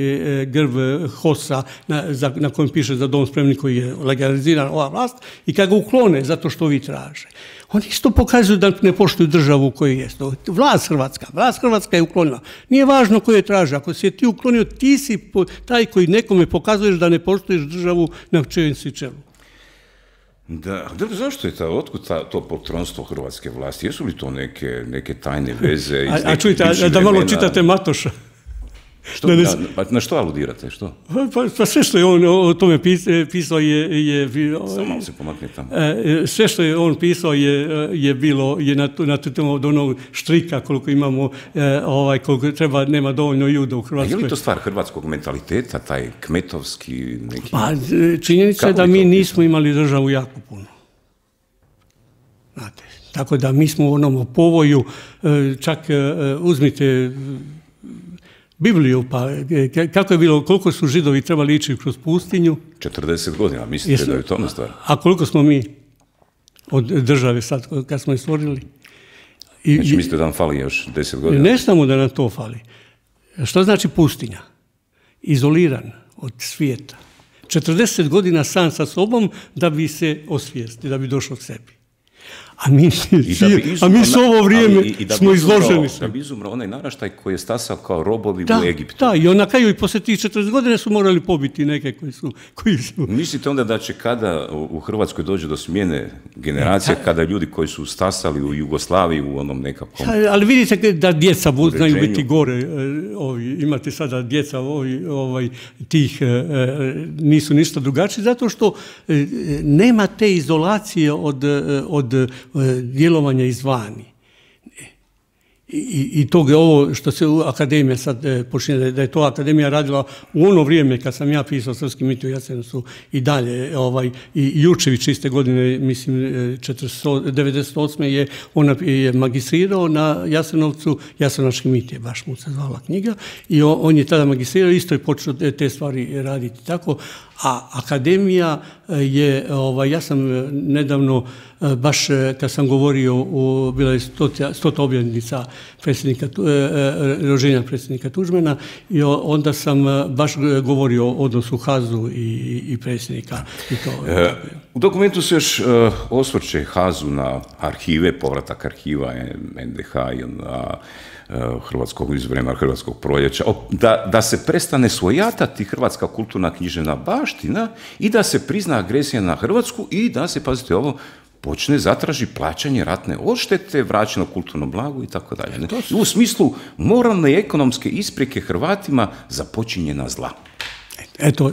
grb H O S-a na, na kojem piše za dom spremni koji je legaliziran ova vlast i kad ga uklone zato što vi traže. Oni isto pokazuju da ne poštuju državu u kojoj je. Vlast Hrvatska, vlast Hrvatska je uklonila. Nije važno ko je traže. Ako si je ti uklonio, ti si taj koji nekome pokazuješ da ne poštuješ državu na čijem si čelu. Da, zašto je ta, otkud ta, to poltronstvo hrvatske vlasti? Jesu li to neke, neke tajne veze? A, a čujte, a, da malo čitate Matoša. Što, na, na, na što aludirate? Što? Pa, pa sve što je on o tome pisao je... je Samo malo se pomakne tamo. Sve što je on pisao je, je bilo je na, na temu od onog štrika koliko imamo, ovaj, koliko treba, nema dovoljno juda u Hrvatskoj. A je li to stvar hrvatskog mentaliteta, taj kmetovski neki... Pa činjenica je da mi nismo imali državu jako puno. Znate, tako da mi smo u onom povoju, čak uzmite... Bibliju, pa kako je bilo, koliko su Židovi trebali ići kroz pustinju? četrdeset godina, mislite Jesu, da je to stvar? A koliko smo mi od države sad, kad smo je stvorili? I, znači mislite da nam fali još deset godina? Ne samo da nam to fali. Što znači pustinja? Izoliran od svijeta. četrdeset godina sam sa sobom da bi se osvijesti, da bi došao k sebi. A mi, a mi s ovo vrijeme ali, i, i smo izloženi. Da bi izumro onaj naraštaj koji je stasao kao robovi da, u Egiptu. Da, i on na kraju i poslije tih četrdeset godine su morali pobiti neke koji su... Koji su... Mislite onda da će kada u Hrvatskoj dođe do smjene generacije, kada ljudi koji su stasali u Jugoslaviji u onom nekakvom... Ali vidite da djeca uređenju. Znaju biti gore. Ovi, imate sada djeca ovi, ovaj, tih nisu ništa drugačiji, zato što nema te izolacije od, od djelovanja izvani. I, i tog je ovo što se akademija sad e, počinje, da je to akademija radila u ono vrijeme kad sam ja pisao Srpski mit u Jasenovcu i dalje, ovaj, i Jurčević iste godine, mislim, devedeset osme je, ona je magistrirao na Jasenovcu, Jasenovački mit je baš mu se zvala knjiga, i on, on je tada magistrirao, isto je počeo te stvari raditi tako, a akademija je, ovaj, ja sam nedavno, baš kad sam govorio, u, bila je stota, stota obljetnica predsjednika, rođenja predsjednika Tuđmana, i onda sam baš govorio o odnosu Hazu i, i predsjednika. I to, e, u dokumentu se još uh, osvrće Hazu na arhive, povratak arhiva en de ha i na Hrvatskog iz vremena Hrvatskog proljeća, da, da se prestane svojatati hrvatska kulturna književna baština i da se prizna agresija na Hrvatsku i da se, pazite ovo, počne zatraži plaćanje ratne odštete, vraćeno kulturno blago i tako dalje. U smislu moralne i ekonomske isprike Hrvatima za počinjena zla. Eto,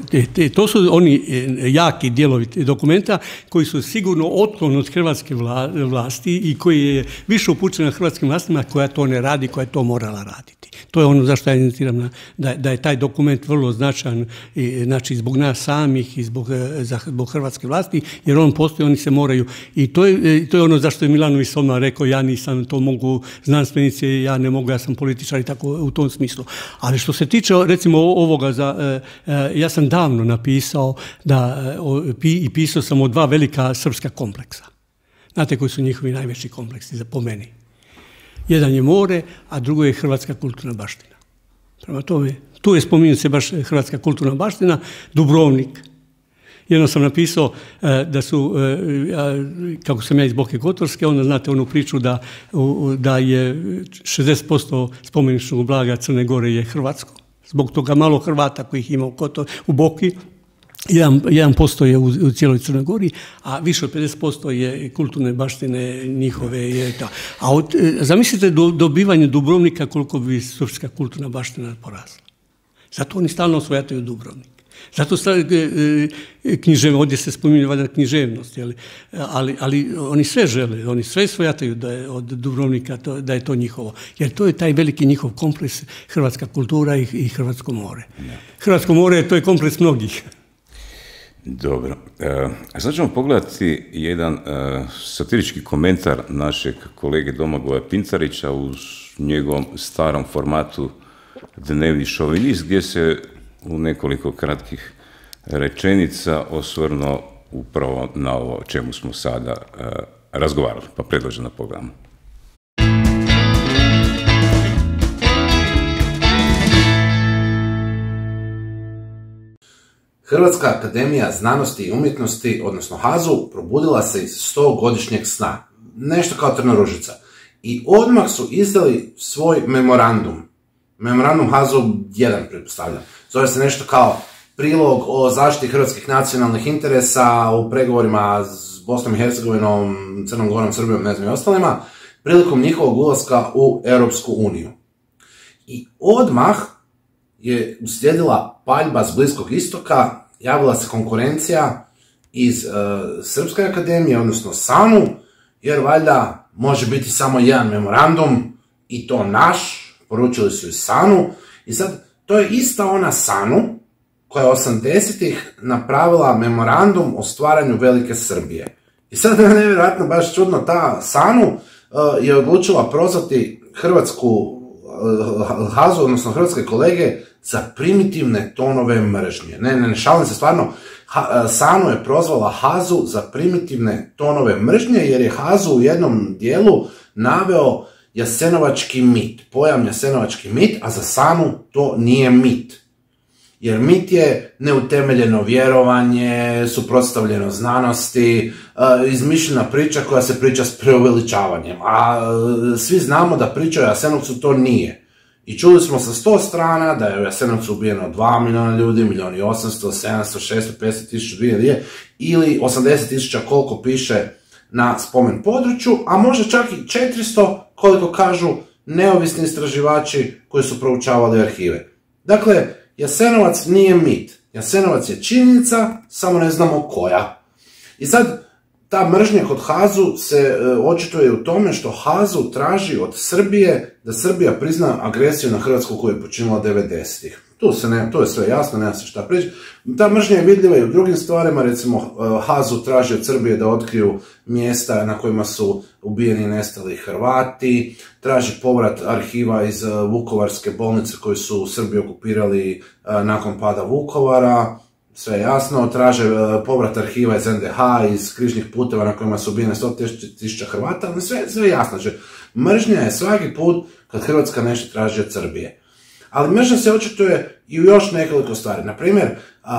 to su oni jaki dijelovi dokumenta koji su sigurno otklon od hrvatske vlasti i koji je više upućen na hrvatskim vlastima koja to ne radi, koja je to morala raditi. To je ono zašto ja insistiram na, da, da je taj dokument vrlo značajan, i, znači zbog nas samih i zbog, zbog hrvatske vlasti, jer on postoji, oni se moraju. I to je, to je ono zašto je Milanović Soman rekao, ja nisam, to mogu znanstvenici, ja ne mogu, ja sam političar i tako u tom smislu. Ali što se tiče recimo ovoga, za, ja sam davno napisao da, i pisao sam o dva velika srpska kompleksa. Znate koji su njihovi najveći kompleksi za po meni? Jedan je more, a drugo je hrvatska kulturna baština. Prema tome, tu je spominju se baš hrvatska kulturna baština, Dubrovnik. Jedno sam napisao da su, kako sam ja iz Boke Kotorske, onda znate onu priču da, da je šezdeset posto spomeničnog blaga Crne Gore je hrvatsko. Zbog toga malo Hrvata kojih ima u, Kotor, u Boki, jedan posto je u, u cijeloj Crnoj Gori, a više od pedeset posto je kulturne baštine njihove. Je ta. A od, zamislite do, dobivanje Dubrovnika koliko bi srpska kulturna baština porasla. Zato oni stalno osvajataju Dubrovnik. Zato književnost, ovdje se spominje valjda književnost, jeli? Ali, ali oni sve žele, oni sve svojataju da je od Dubrovnika, to, da je to njihovo. Jer to je taj veliki njihov kompleks, hrvatska kultura i, i hrvatsko more. Hrvatsko more, to je kompleks mnogih. Dobro. A sad ćemo pogledati jedan uh, satirički komentar našeg kolege Domagoja Pintarića u njegovom starom formatu Dnevni šovinist, gdje se u nekoliko kratkih rečenica osvrnuo upravo na ovo o čemu smo sada uh, razgovarali, pa predlažem na programu. Hrvatska akademija znanosti i umjetnosti, odnosno Hazu, probudila se iz stogodišnjeg sna. Nešto kao Trnoružica. I odmah su izdali svoj memorandum. Memorandum Hazu jedan, pretpostavljam. Zove se nešto kao prilog o zaštiti hrvatskih nacionalnih interesa u pregovorima s Bosnom i Hercegovinom, Crnom Gorom, Srbijom, ne znam i ostalima, prilikom njihovog ulaska u Europsku uniju. I odmah je uslijedila paljba s Bliskog istoka, javila se konkurencija iz uh, Srpske akademije, odnosno SANU, jer valjda može biti samo jedan memorandum i to naš, poručili su iz SANU. I sad, to je ista ona SANU koja je osamdesetih napravila memorandum o stvaranju Velike Srbije. I sad je nevjerojatno baš čudno, ta SANU uh, je odlučila prozvati hrvatsku uh, Hazu, odnosno hrvatske kolege, za primitivne tonove mržnje. Ne, ne, ne šalim se, stvarno, ha, SANU je prozvala Hazu za primitivne tonove mržnje, jer je Hazu u jednom dijelu naveo jasenovački mit, pojam jasenovački mit, a za SANU to nije mit. Jer mit je neutemeljeno vjerovanje, suprotstavljeno znanosti, izmišljena priča koja se priča s preuveličavanjem. A svi znamo da priča o Jasenovcu to nije. I čuli smo sa sto strana da je u Jasenovcu ubijeno dva milijuna ljudi, milijun i osamsto, sedamsto, šesto, petsto tisuća, dvije ili osamdeset tisuća koliko piše na spomen području, a možda čak i četiristo koliko kažu neovisni istraživači koji su proučavali arhive. Dakle, Jasenovac nije mit. Jasenovac je činjenica, samo ne znamo koja. I sad, ta mržnja kod Hazu se e, očituje u tome što Hazu traži od Srbije da Srbija prizna agresiju na Hrvatsku koju je počinila devedesetih. Tu se ne, to je sve jasno, nema se šta prići. Ta mržnja je vidljiva i u drugim stvarima, recimo Hazu traži od Srbije da otkriju mjesta na kojima su ubijeni i nestali Hrvati, traži povrat arhiva iz Vukovarske bolnice koju su Srbi okupirali nakon pada Vukovara, sve jasno, traže povrat arhiva iz en de ha, iz križnih puteva na kojima su ubijene sto tisuća Hrvata, ali sve, sve jasno. Znači, mržnja je svaki put kad Hrvatska nešto traži od Srbije. Ali mržnja se očituje i u još nekoliko stvari. Naprimjer,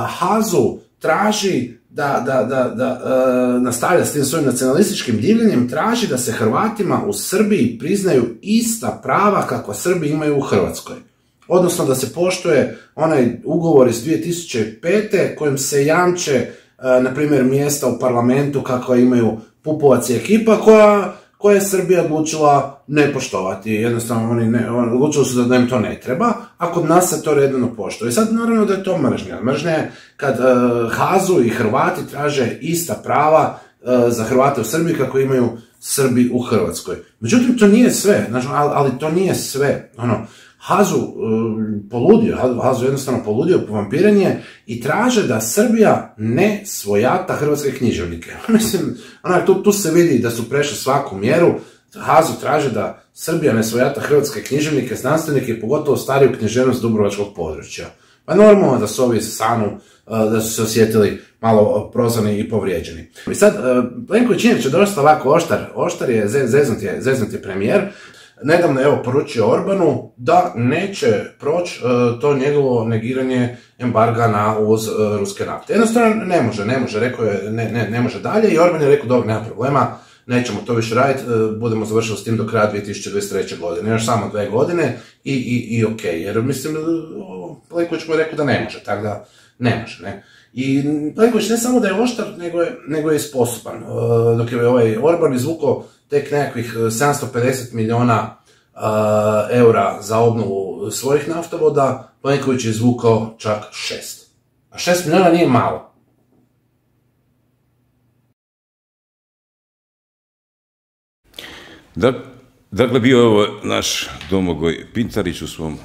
Hazu traži da, da, da, da uh, nastavlja s tim svojim nacionalističkim divljenjem, traži da se Hrvatima u Srbiji priznaju ista prava kakva Srbi imaju u Hrvatskoj. Odnosno da se poštuje onaj ugovor iz dvije tisuće pete kojim se jamče, uh, na primjer, mjesta u parlamentu kakva imaju Pupovac i ekipa koja... koje je Srbija odlučila ne poštovati. Jednostavno, oni ne, odlučili su da im to ne treba, a kod nas se to redno poštuje. I sad, naravno da je to mržnja. Mržnja je kad uh, Hazu i Hrvati traže ista prava uh, za Hrvate u Srbiji kako imaju Srbi u Hrvatskoj. Međutim, to nije sve, znači, ali, ali to nije sve. Ono, Hazu uh, poludio, Hazu jednostavno poludio, povampiren je i traže da Srbija ne svojata hrvatske književnike. Mislim, onak, tu, tu se vidi da su prešli svaku mjeru. Hazu traže da Srbija ne svojata hrvatske književnike, znanstvenike i pogotovo stariju književnost dubrovačkog područja. Pa normalno da su ovi sanu, da su se osjetili malo prozvani i povrijeđeni. I sad, Plenković inače dosta ovako oštar, oštar je, zeznut je, zeznut je premijer. Nedavno je evo poručio Orbanu da neće proći uh, to njegovo negiranje embarga na uvoz uh, ruske nafte. Jednostavno ne može, ne može, rekao je ne, ne, ne može dalje i Orban je rekao dobro, nema problema, nećemo to više raditi, uh, budemo završili s tim do kraja dvije tisuće dvadeset treće godine, još samo dve godine i, i, i ok, jer mislim, uh, Plenković mu je rekao da ne može, tako da ne može, ne. I Plenković ne samo da je oštar, nego je, nego je sposoban. Uh, dok je ovaj Orban izvukao tek nekakvih sedamsto pedeset milijuna uh, eura za obnovu svojih naftovoda, Plenković je izvukao čak šest. A šest milijuna nije malo. Da, dakle, bio je ovo naš Domagoj Pintarić u svom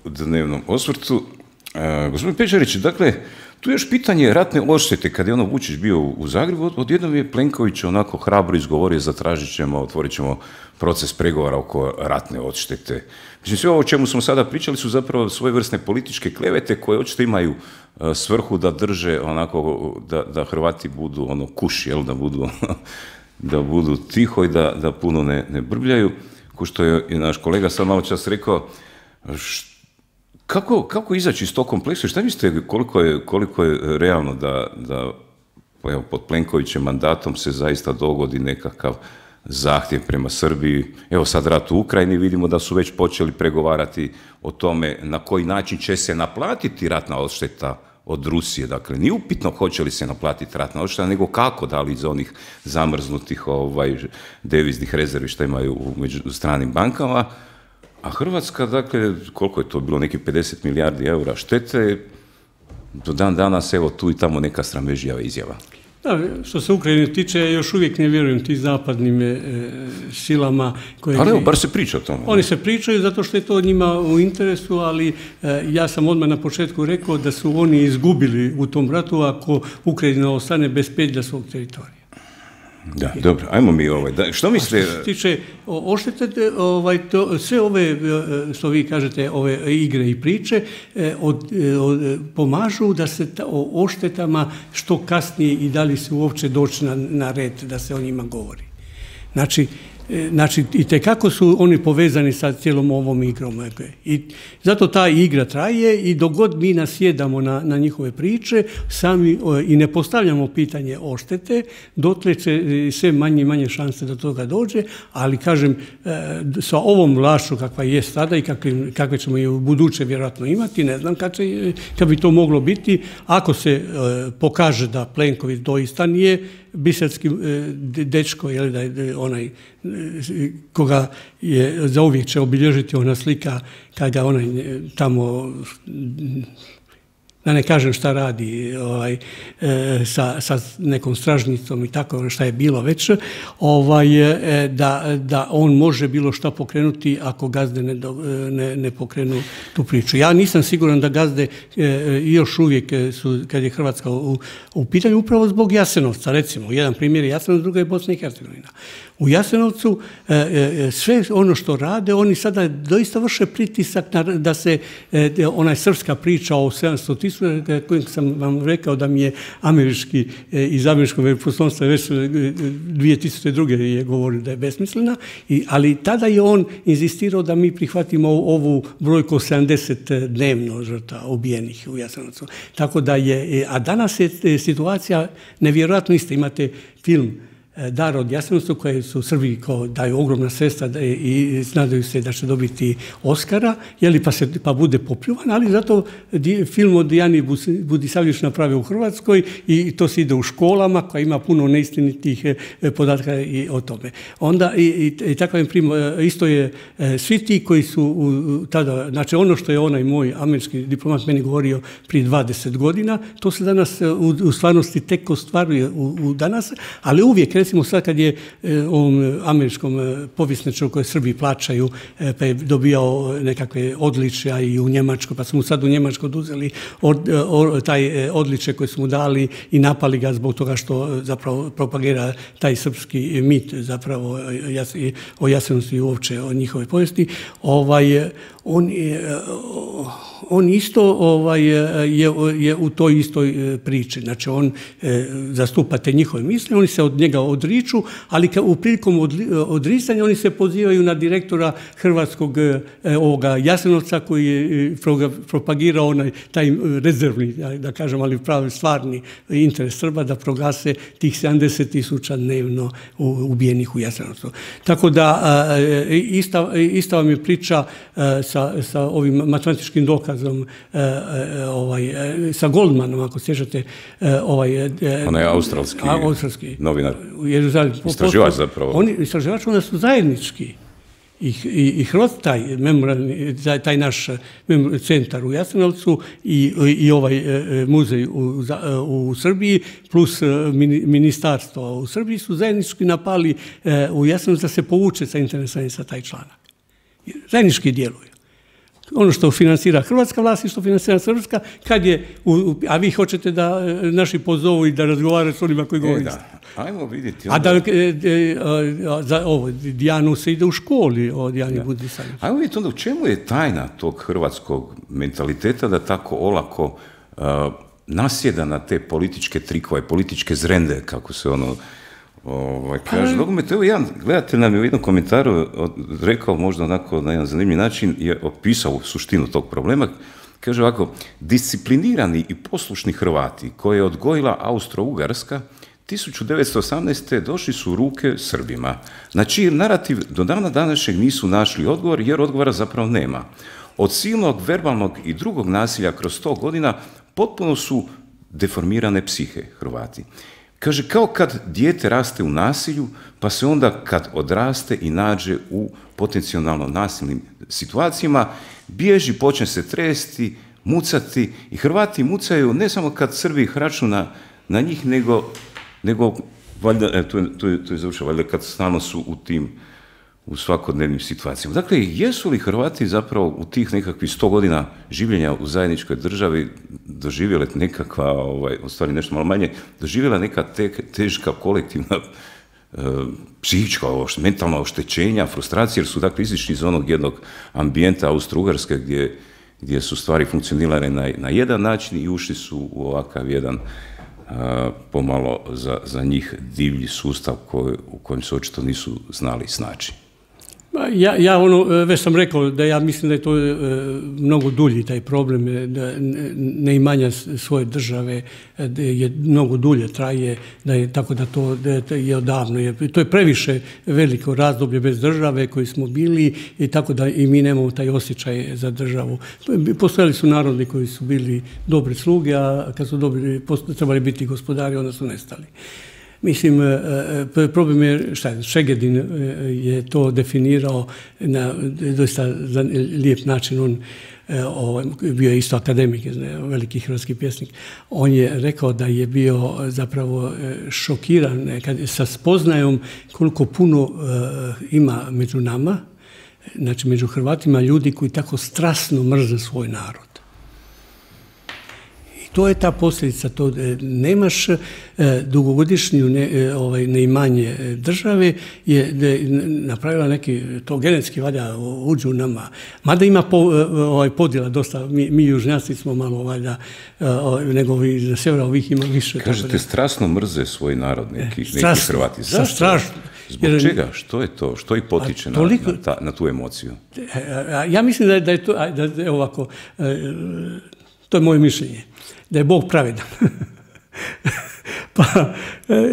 dnevnom osvrtu. Uh, gospodin Pečarić, dakle, tu je još pitanje ratne odštete. Kad je ono Vučić bio u Zagrebu, odjednom je Plenković onako hrabro izgovorio, zatražit ćemo, otvorit ćemo proces pregovora oko ratne odštete. Mislim, sve ovo o čemu smo sada pričali su zapravo svojevrsne političke klevete koje očito imaju uh, svrhu da drže onako, da, da Hrvati budu ono kuš, jel, da budu, da budu tiho i da, da puno ne, ne brbljaju. Ko što je i naš kolega sad malo čas rekao, što Kako, kako izaći iz tog kompleksa? Šta mislite koliko je, koliko je realno da, da evo, pod Plenkovićem mandatom se zaista dogodi nekakav zahtjev prema Srbiji? Evo sad rat u Ukrajini, vidimo da su već počeli pregovarati o tome na koji način će se naplatiti ratna odšteta od Rusije. Dakle, nije upitno hoće li se naplatiti ratna odšteta, nego kako, da li iz onih zamrznutih ovaj, deviznih rezervi što imaju u među stranim bankama. A Hrvatska, dakle, koliko je to bilo, neki pedeset milijardi eura štete, do dan danas, evo, tu i tamo neka sramežljiva izjava. Da, što se Ukrajine tiče, još uvijek ne vjerujem ti zapadnim e, silama koje... Ali evo, bar se priča o tome. Oni se pričaju zato što je to njima u interesu, ali e, ja sam odmah na početku rekao da su oni izgubili u tom ratu ako Ukrajina ostane bez petlja svog teritorija. Da, dobro, ajmo mi ovaj, da, što misle... Što se tiče odštete, ovaj, to, sve ove, što vi kažete, ove igre i priče, od, od, pomažu da se ta, o odštetama što kasnije i da li se uopće doći na, na red da se o njima govori. Znači, znači, i tekako su oni povezani sa cijelom ovom igrom. I zato ta igra traje i dok god mi nasjedamo na, na njihove priče sami i ne postavljamo pitanje odštete, dotle će sve manje i manje šanse da toga dođe, ali kažem, sa ovom vlašću kakva je sada i kakve, kakve ćemo je u buduće vjerojatno imati, ne znam kad, će, kad bi to moglo biti, ako se pokaže da Plenković doista nije biserski dečko, jel, da je onaj koga je zauvijek će obilježiti ona slika kada onaj tamo, da ne kažem šta radi ovaj, sa, sa nekom stražnicom i tako šta je bilo već, ovaj, da, da on može bilo šta pokrenuti ako gazde ne, ne, ne pokrenu tu priču. Ja nisam siguran da gazde još uvijek su, kad je Hrvatska u, u pitanju, upravo zbog Jasenovca, recimo. Jedan primjer je Jasenovac, druga je Bosna i Hercegovina. U Jasenovcu sve ono što rade, oni sada doista vrše pritisak da se onaj srpska priča o sedamsto tisuća, kojeg sam vam rekao da mi je američki, iz američkog veleposlanstva već dvije tisuće druge je govorio da je besmislena, ali tada je on inzistirao da mi prihvatimo ovu brojku sedamdeset dnevno žrtava ubijenih u Jasenovcu. Tako da je, a danas je situacija nevjerojatno ista. Imate film Dar od Jasenovca, koje su Srbiji kao daju ogromna sredstva i nadaju se da će dobiti Oskara, jeli, pa, se, pa bude popljuvan, ali zato film od Dijani Budisavljević napravio u Hrvatskoj i to se ide u školama koja ima puno neistinitih podatka i o tome. Onda i, i, i takav prim, isto je svi ti koji su u, tada, znači ono što je onaj moj američki diplomat meni govorio prije dvadeset godina, to se danas u, u stvarnosti tek ostvaruje u, u danas, ali uvijek, recimo sad kad je ovom američkom povjesničaru koje Srbiji plaćaju, pa je dobijao nekakve odličja i u Njemačkoj, pa su mu sad u Njemačkoj oduzeli od, od, taj odličje koje su mu dali i napali ga zbog toga što zapravo propagira taj srpski mit zapravo o Jasenovcu i uopće o njihove povijesti. Ovaj, on, on isto ovaj, je, je u toj istoj priči. Znači on zastupa te njihove misli, oni se od njega odriču, ali u prilikom odricanja oni se pozivaju na direktora hrvatskog ovoga Jasenovca koji je propagirao onaj taj rezervni, da kažem, ali pravi stvarni interes Srba da proglase tih sedamdeset tisuća dnevno ubijenih u Jasenovcu. Tako da ista, ista vam je priča sa, sa ovim matematičkim dokazom ovaj, sa Goldmanom, ako sjećate. Ovaj, onaj australski, australski novinar. Istraživač zapravo. Oni, istraživač, onda su zajednički. I, i, i Hrvat, taj, memorialni, taj naš centar u Jasenovcu i, i ovaj muzej u, u Srbiji plus ministarstvo u Srbiji su zajednički napali u Jasenovcu da se povuče sa internetom sa taj članak. Zajednički djeluju. Ono što financira hrvatska vlast i što financira srpska, kad je, u, a vi hoćete da naši pozovu i da razgovaraju s onima koji govori. E, da. Ajmo vidjeti. A da, e, e, za ovo, Dijanu se ide u školi o Dijani Budisavljević. Ajmo vidjeti onda u čemu je tajna tog hrvatskog mentaliteta da tako olako uh, nasjeda na te političke trikove, političke zrende, kako se ono Ovaj, kaže, nogomet, evo jedan gledatelj nam je u jednom komentaru rekao možda onako na jedan zanimljiv način, je opisao suštinu tog problema. Kaže ovako, disciplinirani i poslušni Hrvati koje je odgojila Austro-Ugarska tisuću devetsto osamnaeste. došli su u ruke Srbima, na čiji narativ do dana današnjeg nisu našli odgovor jer odgovora zapravo nema. Od silnog, verbalnog i drugog nasilja kroz sto godina potpuno su deformirane psihe Hrvati. Kaže, kao kad dijete raste u nasilju, pa se onda kad odraste i nađe u potencijalno nasilnim situacijama, bježi, počne se tresti, mucati i Hrvati mucaju ne samo kad Srbi hraču na, na njih, nego, nego valjda, e, tu je, tu je, tu je završao, valjda kad stalno su u tim, u svakodnevnim situacijama. Dakle, jesu li Hrvati zapravo u tih nekakvih sto godina življenja u zajedničkoj državi doživjeli nekakva, ovaj, u stvari nešto malo manje, doživjela neka te, teška kolektivna e, psihička, mentalna oštećenja, frustracije, jer su dakle izišli iz onog jednog ambijenta Austro-Ugarske gdje, gdje su stvari funkcionirale na, na jedan način i ušli su u ovakav jedan pomalo za, za njih divlji sustav koji, u kojem se očito nisu znali snaći. Ja, ja ono, već sam rekao da ja mislim da je to e, mnogo dulji taj problem, da neimanja svoje države da je mnogo dulje traje, da je tako da to da je odavno. Je, to je previše veliko razdoblje bez države koji smo bili i tako da i mi nemamo taj osjećaj za državu. Postojali su narodi koji su bili dobre sluge, a kad su dobili, trebali biti gospodari, onda su nestali. Mislim, problem je, šta je, Šegedin je to definirao na doista lijep način. On bio je isto akademik, veliki hrvatski pjesnik. On je rekao da je bio zapravo šokiran sa spoznajom koliko puno ima među nama, znači među Hrvatima, ljudi koji tako strasno mrze svoj narod. To je ta posljedica, to nemaš dugogodišnju ne, ovaj, neimanje države, je napravila neki, to genetski valjda uđu u nama. Mada ima po, ovaj, podjela dosta, mi, mi južnjaci smo malo valjda, nego ovi za sjevera ovih ima više. Kažete, strasno mrze svoj narod neki, strasno, neki Hrvati. Zašto? Strašno. Zbog jer, čega? Što je to? Što ih potiče toliko, na, na, ta, na tu emociju? Ja mislim da je, da je to, da je ovako, to je moje mišljenje, da je Bog pravedan. Pa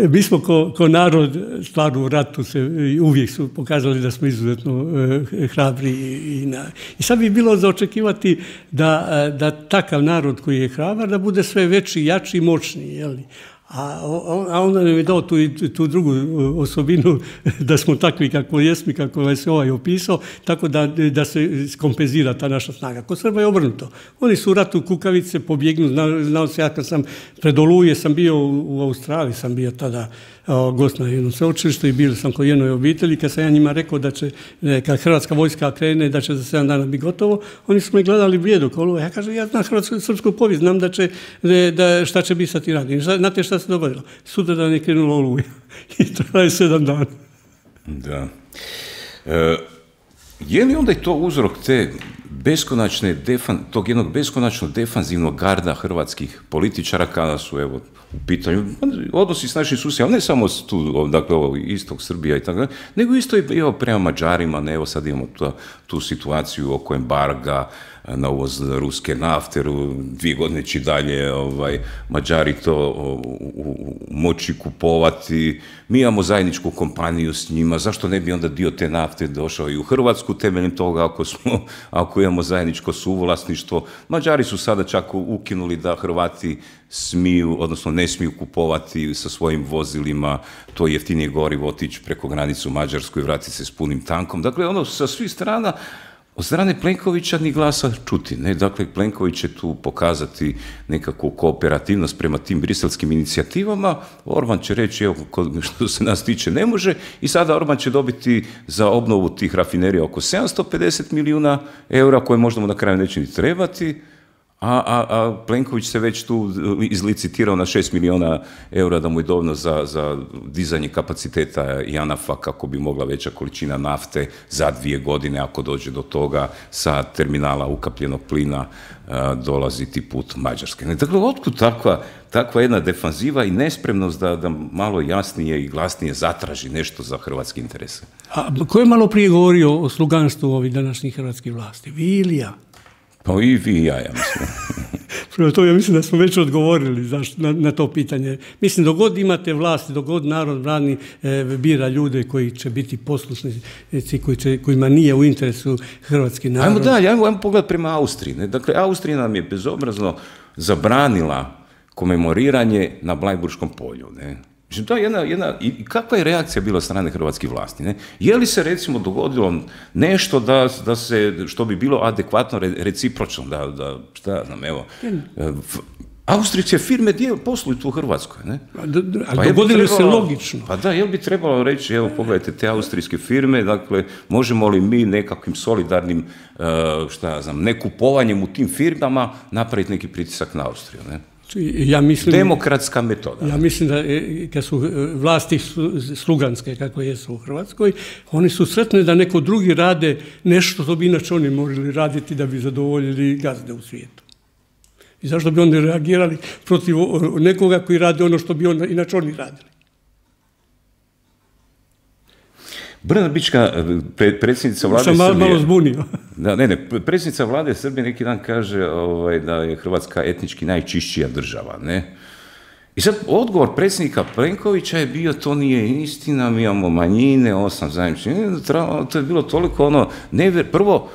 mi smo ko, ko narod stvarno u ratu se uvijek su pokazali da smo izuzetno e, hrabri i, na, i sad bi bilo za očekivati da, da takav narod koji je hrabar da bude sve veći, jači i moćniji, jel? A, a onda nam je dao tu, tu drugu osobinu da smo takvi kako jesmo, kako se ovaj opisao, tako da, da se kompenzira ta naša snaga. Kod Srba je obrnuto. Oni su u ratu kukavice, pobjegnu, znao, znao se ja kad sam pred Oluje sam bio u, u Australiji, sam bio tada o, gost na jednom sveučilištu i bio sam kod jednoj obitelji, kad sam ja njima rekao da će, kad hrvatska vojska krene, da će za sedam dana biti gotovo, oni su me gledali blijedo kao Oluje. Ja kažem, ja znam hrvatsku srpsku povijest, znam da će, da, šta će biti sa ti radi. Znate šta se dogodilo? Sutra dan je krenulo Oluja i to je sedam dana. Da. E, je li onda i to uzrok te beskonačne, defan, tog jednog beskonačnog defanzivnog garda hrvatskih političara kada su, evo, u pitanju odnosi s našim susjedima, ne samo tu, dakle, ovo, istok Srbija i tako dalje, nego isto i evo, prema Mađarima, ne, evo sad imamo tu, tu situaciju oko embarga na uvoz ruske nafte, dvije godine će dalje ovaj, Mađari to u, u, moći kupovati, mi imamo zajedničku kompaniju s njima, zašto ne bi onda dio te nafte došao i u Hrvatsku temeljem toga ako, smo, ako imamo zajedničko suvlasništvo. Mađari su sada čak ukinuli da Hrvati smiju, odnosno ne smiju kupovati sa svojim vozilima to jeftinije gorivo, otići preko granicu Mađarsku i vratiti se s punim tankom. Dakle, ono sa svih strana, od strane Plenkovića ni glasa čuti. Ne? Dakle, Plenković će tu pokazati nekakvu kooperativnost prema tim briselskim inicijativama. Orban će reći, evo, što se nas tiče, ne može. I sada Orban će dobiti za obnovu tih rafinerija oko sedamsto pedeset milijuna eura, koje možda mu na kraju neće ni trebati. A, a, a Plenković se već tu izlicitirao na šest milijuna eura da mu je dovoljno za, za dizanje kapaciteta Janafa kako bi mogla veća količina nafte za dvije godine, ako dođe do toga, sa terminala ukapljenog plina a, dolaziti put Mađarske. Dakle, otkud takva, takva jedna defanziva i nespremnost da, da malo jasnije i glasnije zatraži nešto za hrvatske interese? A ko je malo prije govorio o sluganstvu ovih današnjih hrvatskih vlasti? Vi ili ja? Pa i vi i ja, ja mislim. Prvo to ja mislim da smo već odgovorili zašto, na, na to pitanje. Mislim, dok god imate vlast, dok god narod brani, e, bira ljude koji će biti poslušnici, koji će, kojima nije u interesu hrvatski narod. Ajmo dalje, ajmo, ajmo pogled prema Austriji. Ne? Dakle, Austrija nam je bezobrazno zabranila komemoriranje na Blajburškom polju. Ne? To je jedna, jedna, i kakva je reakcija bila strane hrvatskih vlasti? Ne? Je li se recimo dogodilo nešto da, da se, što bi bilo adekvatno recipročno, da, da šta ja znam, evo, austrijske firme dijel posluju tu u Hrvatskoj, ne? Pa dogodilo se logično. Pa da, jel bi trebalo reći, evo, pogledajte te austrijske firme, dakle, možemo li mi nekakvim solidarnim, šta ja znam, nekupovanjem u tim firmama napraviti neki pritisak na Austriju, ne? Ja mislim, demokratska metoda. Ja mislim da kad su vlasti sluganske, kako jesu u Hrvatskoj, oni su sretni da neko drugi rade nešto što bi inače oni morali raditi da bi zadovoljili gazde u svijetu. I zašto bi oni reagirali protiv nekoga koji radi ono što bi on, inače oni radili? Brnabićka, predsjednica vlade Srbije... Sam malo zbunio. Da, ne, ne, predsjednica vlade Srbije neki dan kaže ovaj, da je Hrvatska etnički najčišćija država, ne? I sad odgovor predsjednika Plenkovića je bio, to nije istina, mi imamo manjine, osam zajedničnih, to je bilo toliko ono, ne, prvo,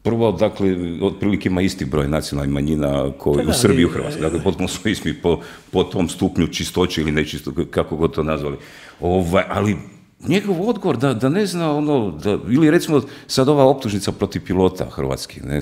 prvo, dakle, otprilike ima isti broj nacionalnih manjina koji u Srbiji i u Hrvatskoj, dakle, potpuno su isti po, po tom stupnju čistoće ili nečistoće, kako god to nazvali, ovaj, ali njegov odgovor da, da ne zna ono, da, ili recimo sad ova optužnica protiv pilota hrvatskih, ne,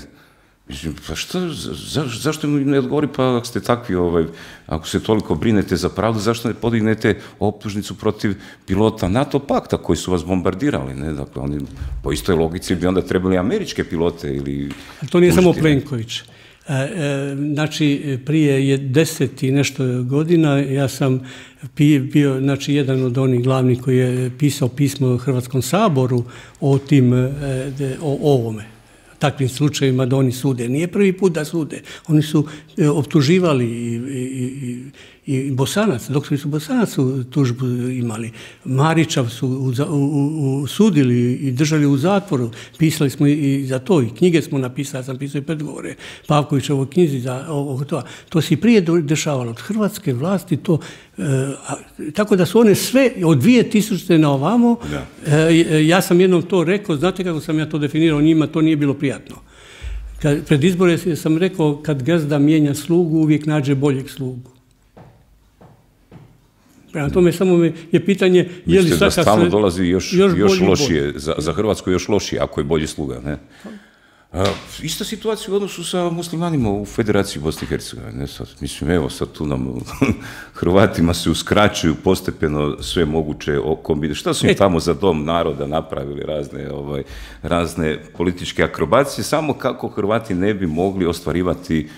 pa što, za, zašto mi ne odgovori, pa ako ste takvi, ovaj, ako se toliko brinete za pravdu, zašto ne podignete optužnicu protiv pilota NATO pakta koji su vas bombardirali, ne, dakle, oni po istoj logici bi onda trebali američke pilote ili... To nije samo Plenković. E, e, znači, prije je deset i nešto godina ja sam bio, znači, jedan od onih glavnih koji je pisao pismo Hrvatskom saboru o tim, e, o ovome. Takvim slučajevima da oni sude. Nije prvi put da sude. Oni su e, optuživali i, i, i, i Bosanac, dok su Bosanac tužbu imali. Marića su u, u, u, sudili i držali u zatvoru. Pisali smo i za to, i knjige smo napisali, ja sam pisao i predgovore Pavkovićevoj knjizi za ovo to. To se i prije dešavalo. Od hrvatske vlasti to, e, a, tako da su one sve od dvije tisućite na ovamo, e, ja sam jednom to rekao, znate kako sam ja to definirao, njima to nije bilo prijatno. Kad, pred izbore sam rekao, kad gazda mijenja slugu, uvijek nađe boljeg slugu. Prema tome samo je pitanje... Mislite da stalno dolazi još, još, još lošije, za, za Hrvatsku još lošije, ako je bolji sluga, ne? A, ista situacija u odnosu sa muslimanima u Federaciji Bosne i Hercegovine. Mislim, evo, sad tu nam Hrvatima se uskraćuju postepeno sve moguće kombinacije. Šta su im tamo za dom naroda napravili razne, ovaj, razne političke akrobacije, samo kako Hrvati ne bi mogli ostvarivati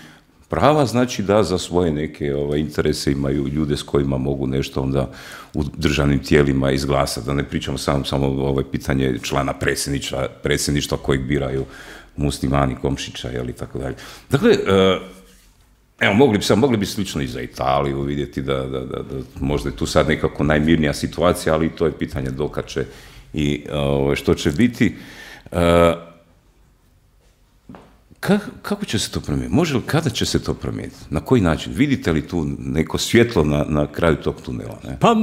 prava, znači da za svoje neke ovaj, interese imaju ljude s kojima mogu nešto onda u državnim tijelima izglasati. Da ne pričamo samo, samo ovaj, pitanje člana predsjedništva, predsjedništva kojeg biraju muslimani, Komšića, jel, i tako dalje. Dakle, evo, mogli bi, sam, mogli bi slično i za Italiju vidjeti da, da, da, da možda je tu sad nekako najmirnija situacija, ali to je pitanje dokad će i ovaj, što će biti. Kako će se to promijeniti? Može li, kada će se to promijeniti? Na koji način? Vidite li tu neko svjetlo na, na kraju tog tunela? Ne? Pa,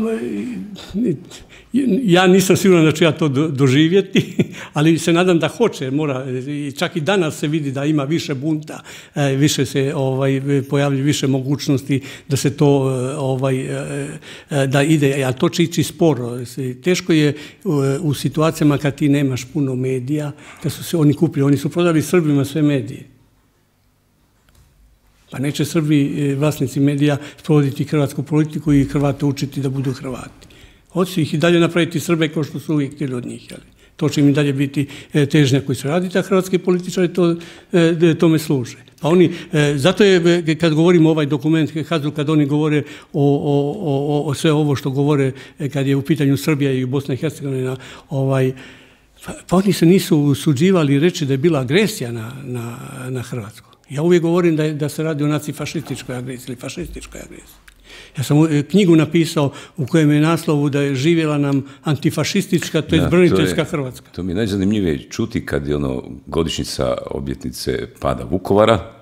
ja nisam siguran da ću ja to doživjeti, ali se nadam da hoće. Mora, čak i danas se vidi da ima više bunta, više se ovaj, pojavljuje više mogućnosti da se to ovaj, da ide, a to će ići sporo. Teško je u situacijama kad ti nemaš puno medija, kad su se oni kupili, oni su prodali Srbima sve medije. Pa neće Srbi, vlasnici medija, sprovoditi hrvatsku politiku i Hrvate učiti da budu Hrvati. Hoće ih i dalje napraviti Srbe kao što su uvijek htjeli od njih. Jeli. To će im i dalje biti težnja koji su raditi, a hrvatski političari to, tome služe. Pa oni, zato je, kad govorimo ovaj dokument, kad oni govore o, o, o, o sve ovo što govore, kad je u pitanju Srbija i Bosna i Hercegovina, ovaj, pa, pa oni se nisu usuđivali reći da je bila agresija na, na, na Hrvatsku. Ja uvijek govorim da, da se radi o nacifašističkoj agresiji ili fašističkoj agresiji. Ja sam knjigu napisao u kojem je naslovu da je živjela nam antifašistička, to je braniteljska Hrvatska. To mi je najzanimljivije čuti kad je ono godišnjica obljetnice pada Vukovara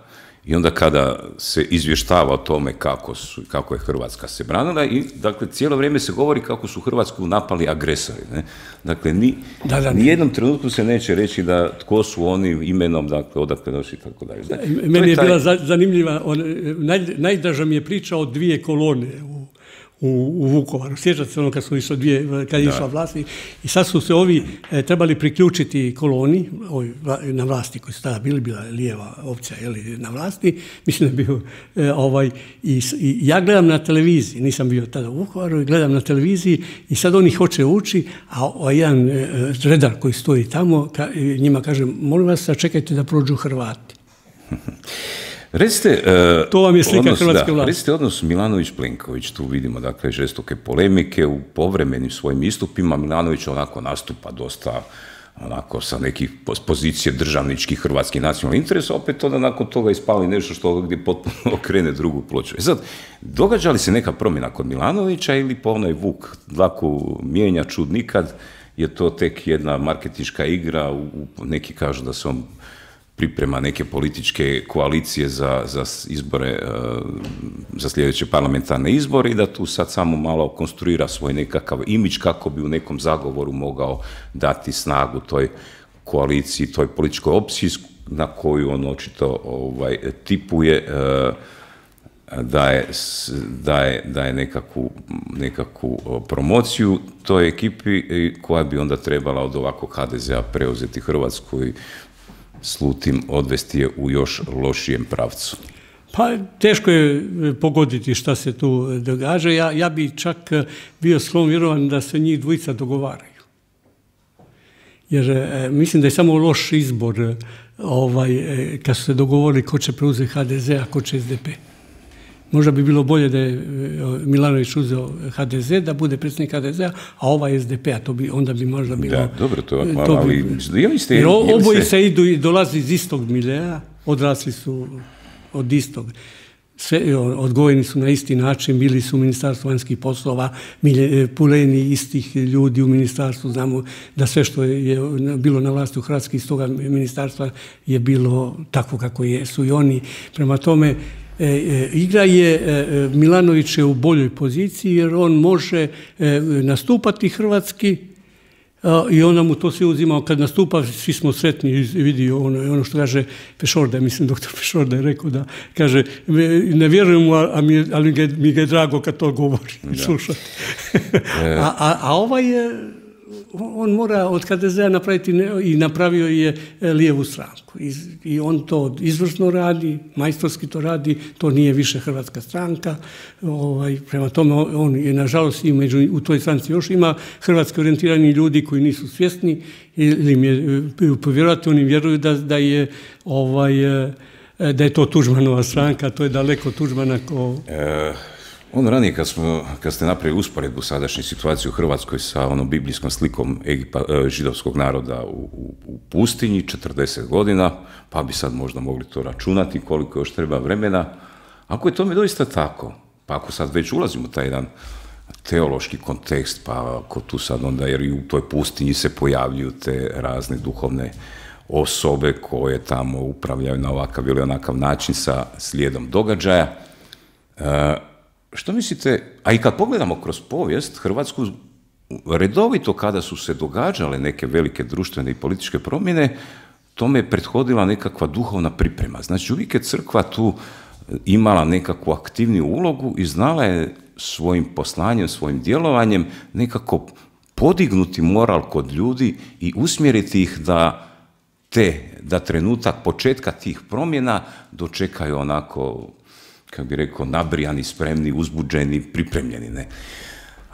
i onda kada se izvještava o tome kako, su, kako je Hrvatska se branila i dakle cijelo vrijeme se govori kako su Hrvatsku napali agresori. Ne? Dakle, ni, da, da, ni jednom trenutku se neće reći da tko su oni imenom, dakle, odakle došli i tako dalje. Znači, meni je, je taj... bila zanimljiva, on, naj, najdraža mi je priča o dvije kolone u U, u Vukovaru. Sjećate se ono kad su išli dvije, kad je išla vlast i sad su se ovi e, trebali priključiti koloni ovi, na vlasti koji su tada bili, bila lijeva opcija jeli, na vlasti, mislim da je bio e, ovaj, i, i ja gledam na televiziji, nisam bio tada u Vukovaru, gledam na televiziji i sad oni hoće ući, a, a jedan e, redar koji stoji tamo, ka, njima kaže, molim vas, sačekajte da prođu Hrvati. Recite, uh, to vam je slika odnos, hrvatske da, vlasti. Recite odnos Milanović-Plenković, tu vidimo dakle žestoke polemike, u povremenim svojim istupima Milanović onako nastupa dosta onako sa nekih pozicije državničkih hrvatskih nacionalnih interesa, opet onda nakon toga ispali nešto što gdje potpuno okrene drugu ploču. E sad, događa li se neka promjena kod Milanovića ili po onaj vuk dlaku mijenja čud nikad, je to tek jedna marketinška igra, u, neki kažu da se on priprema neke političke koalicije za, za izbore, za sljedeće parlamentarne izbore i da tu sad samo malo konstruira svoj nekakav imidž kako bi u nekom zagovoru mogao dati snagu toj koaliciji, toj političkoj opciji na koju on očito ovaj, tipuje, daje, daje, daje nekakvu, nekakvu promociju toj ekipi koja bi onda trebala od ovakvog ha de zea preuzeti Hrvatsku i slutim odvesti je u još lošijem pravcu. Pa teško je pogoditi šta se tu događa. Ja, ja bi čak bio sklon vjerovan da se njih dvojica dogovaraju. Jer e, mislim da je samo loš izbor ovaj, e, kad su se dogovorili ko će preuzeti ha de ze, a ko će es de pe. Možda bi bilo bolje da je Milanović uzeo ha de ze, da bude predsjednik ha de zea, a ovaj es de pe, a to bi, onda bi možda bilo... Da, dobro, to je malo, ali... Bi, ste, jer oboji se idu i dolazi iz istog miljea, odrasli su od istog. Sve, odgojeni su na isti način, bili su u Ministarstvu vanjskih poslova, puleni istih ljudi u ministarstvu, znamo da sve što je bilo na vlasti u Hrvatskoj iz toga ministarstva je bilo tako kako su i oni. Prema tome, E, e, igra je, e, Milanović je u boljoj poziciji jer on može e, nastupati hrvatski a, i onda mu to sve uzimao. Kad nastupa, svi smo sretni i vidio ono, ono što kaže Pešorda, mislim doktor Pešorda je rekao da, kaže, ne vjerujem mu, a mi, ali ga, mi ga je drago kad to govori, slušati. a, a, a ovaj je, on mora od ha de zea napraviti i napravio je lijevu stranku. I, i on to izvrsno radi, majstorski to radi, to nije više hrvatska stranka. Ovaj, prema tome, on je, nažalost, i među, u toj stranci još ima hrvatski orijentirani ljudi koji nisu svjesni ili im je, povjerovati, oni vjeruju da, da je ovaj, da je to Tuđmanova stranka, to je daleko Tuđmana ko... E... On ranije, kad, smo, kad ste napravili usporedbu sadašnje situacije u Hrvatskoj sa onom biblijskom slikom Egipa, židovskog naroda u, u, u pustinji, četrdeset godina, pa bi sad možda mogli to računati koliko još treba vremena. Ako je tome doista tako, pa ako sad već ulazimo u taj jedan teološki kontekst, pa ako tu sad onda, jer i u toj pustinji se pojavljuju te razne duhovne osobe koje tamo upravljaju na ovakav ili onakav način sa slijedom događaja, e, što mislite, a i kad pogledamo kroz povijest Hrvatsku, redovito kada su se događale neke velike društvene i političke promjene, tome je prethodila nekakva duhovna priprema. Znači uvijek je crkva tu imala nekakvu aktivniju ulogu i znala je svojim poslanjem, svojim djelovanjem nekako podignuti moral kod ljudi i usmjeriti ih da te, da trenutak početka tih promjena dočekaju onako, kako bi rekao, nabrijani, spremni, uzbuđeni, pripremljeni, ne.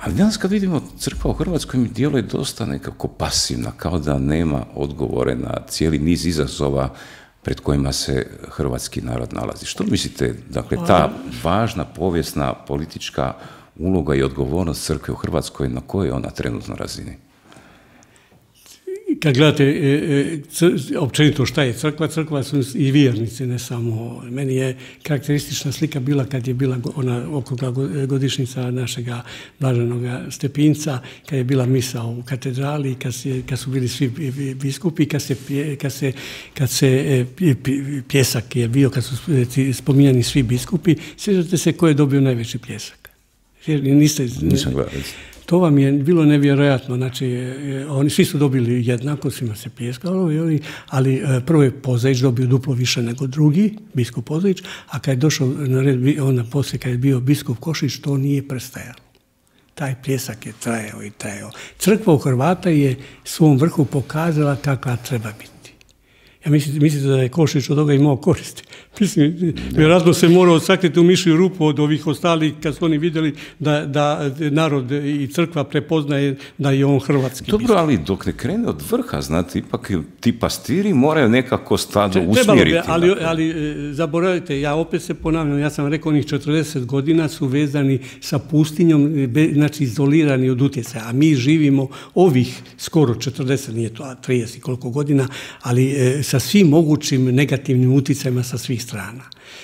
Ali danas kad vidimo crkva u Hrvatskoj mi djeluje dosta nekako pasivna, kao da nema odgovore na cijeli niz izazova pred kojima se hrvatski narod nalazi. Što mislite, dakle, ta važna povijesna politička uloga i odgovornost crkve u Hrvatskoj, na kojoj je ona trenutno razini? Kad gledate e, e, općenito šta je crkva, crkva su i vjernici, ne samo. Meni je karakteristična slika bila kad je bila ona okrugla godišnjica našega blaženog Stepinca, kad je bila misa u katedrali, kad, se, kad su bili svi biskupi, kad se, kad se, kad se pljesak je bio, kad su spominjani svi biskupi. Sjećate se ko je dobio najveći pljesak? Niste, Nisam gledao. To vam je bilo nevjerojatno, znači oni svi su dobili jednako, svima se pljeskalo, ali prvo je Pozaić dobio duplo više nego drugi, biskup Pozaić, a kad je došao na red, onda poslije kad je bio biskup Košić, to nije prestajalo. Taj pljesak je trajao i trajao. Crkva u Hrvata je svom vrhu pokazala kakva treba biti. Ja mislim, mislite da je Košić od toga imao koristi. Mislim, vjerojatno se morao sakriti u mišju rupu od ovih ostalih kad su oni vidjeli da, da narod i crkva prepoznaje da je on hrvatski. Dobro, ali dok ne krene od vrha, znate, ipak ti pastiri moraju nekako stado usmjeriti. Bi, ali, ali zaboravite, ja opet se ponavljam, ja sam rekao, onih četrdeset godina su vezani sa pustinjom, znači izolirani od utjecaja, a mi živimo ovih skoro četrdeset, nije to trideset koliko godina, ali sa svim mogućim negativnim utjecajima sa svih strana.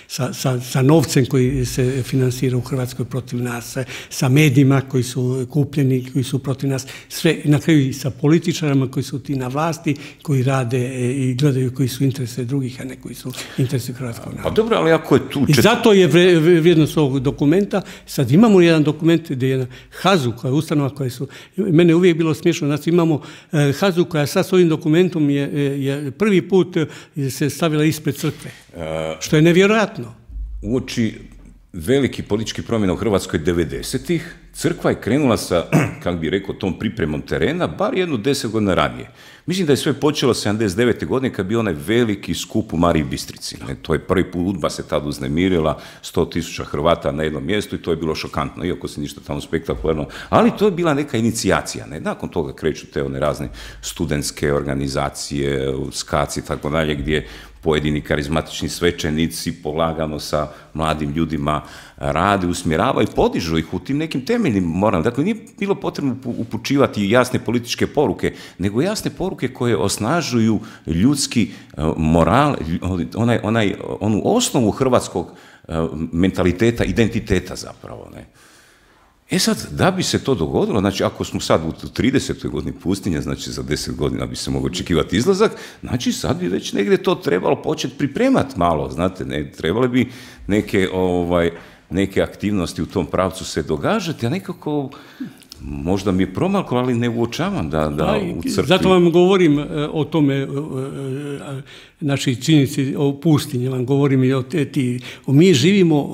Sa, sa, sa novcem koji se finansira u Hrvatskoj protiv nas, sa medijima koji su kupljeni, koji su protiv nas, sve, na kraju i sa političarima koji su ti na vlasti, koji rade i gledaju koji su interese drugih, a ne koji su interese hrvatskog naroda. Pa dobro, ali ako je tu... I zato je vrijednost ovog dokumenta. Sad imamo jedan dokument gdje je Hazu, koja je ustanova koja su... Mene uvijek bilo smiješno, znači imamo Hazu koja sad s ovim dokumentom je, je prvi put se stavila ispred crkve, što je nevjerojatno. Uoči veliki politički promjena u Hrvatskoj devedesetih, crkva je krenula sa, kako bi rekao, tom pripremom terena, bar jednu deset godina ranije. Mislim da je sve počelo sedamdeset devete godine kad bi onaj veliki skup u Mariji Bistrici. Ne, to je prvi put UDBA se tad uznemirila, sto tisuća Hrvata na jednom mjestu i to je bilo šokantno, iako se ništa tamo spektakularno, ali to je bila neka inicijacija. Ne? Nakon toga kreću te one razne studentske organizacije, skaci i tako dalje, gdje pojedini karizmatični svećenici polagano sa mladim ljudima rade, usmjeravaju i podižu ih u tim nekim temeljnim moralima. Dakle, nije bilo potrebno upućivati jasne političke poruke, nego jasne poruke koje osnažuju ljudski moral, onaj, onaj, onu osnovu hrvatskog mentaliteta, identiteta zapravo. Ne? E sad, da bi se to dogodilo, znači ako smo sad u tridesetoj godini pustinje, znači za deset godina bi se mogao očekivati izlazak, znači sad bi već negdje to trebalo početi pripremati malo, znate, ne, trebale bi neke, ovaj, neke aktivnosti u tom pravcu se događati, a nekako... Možda mi je promaklo, ali ne uočavam da, da u crkvi... Zato vam govorim o tome, znači činjenici o pustinji, vam govorim i o te, ti, o mi živimo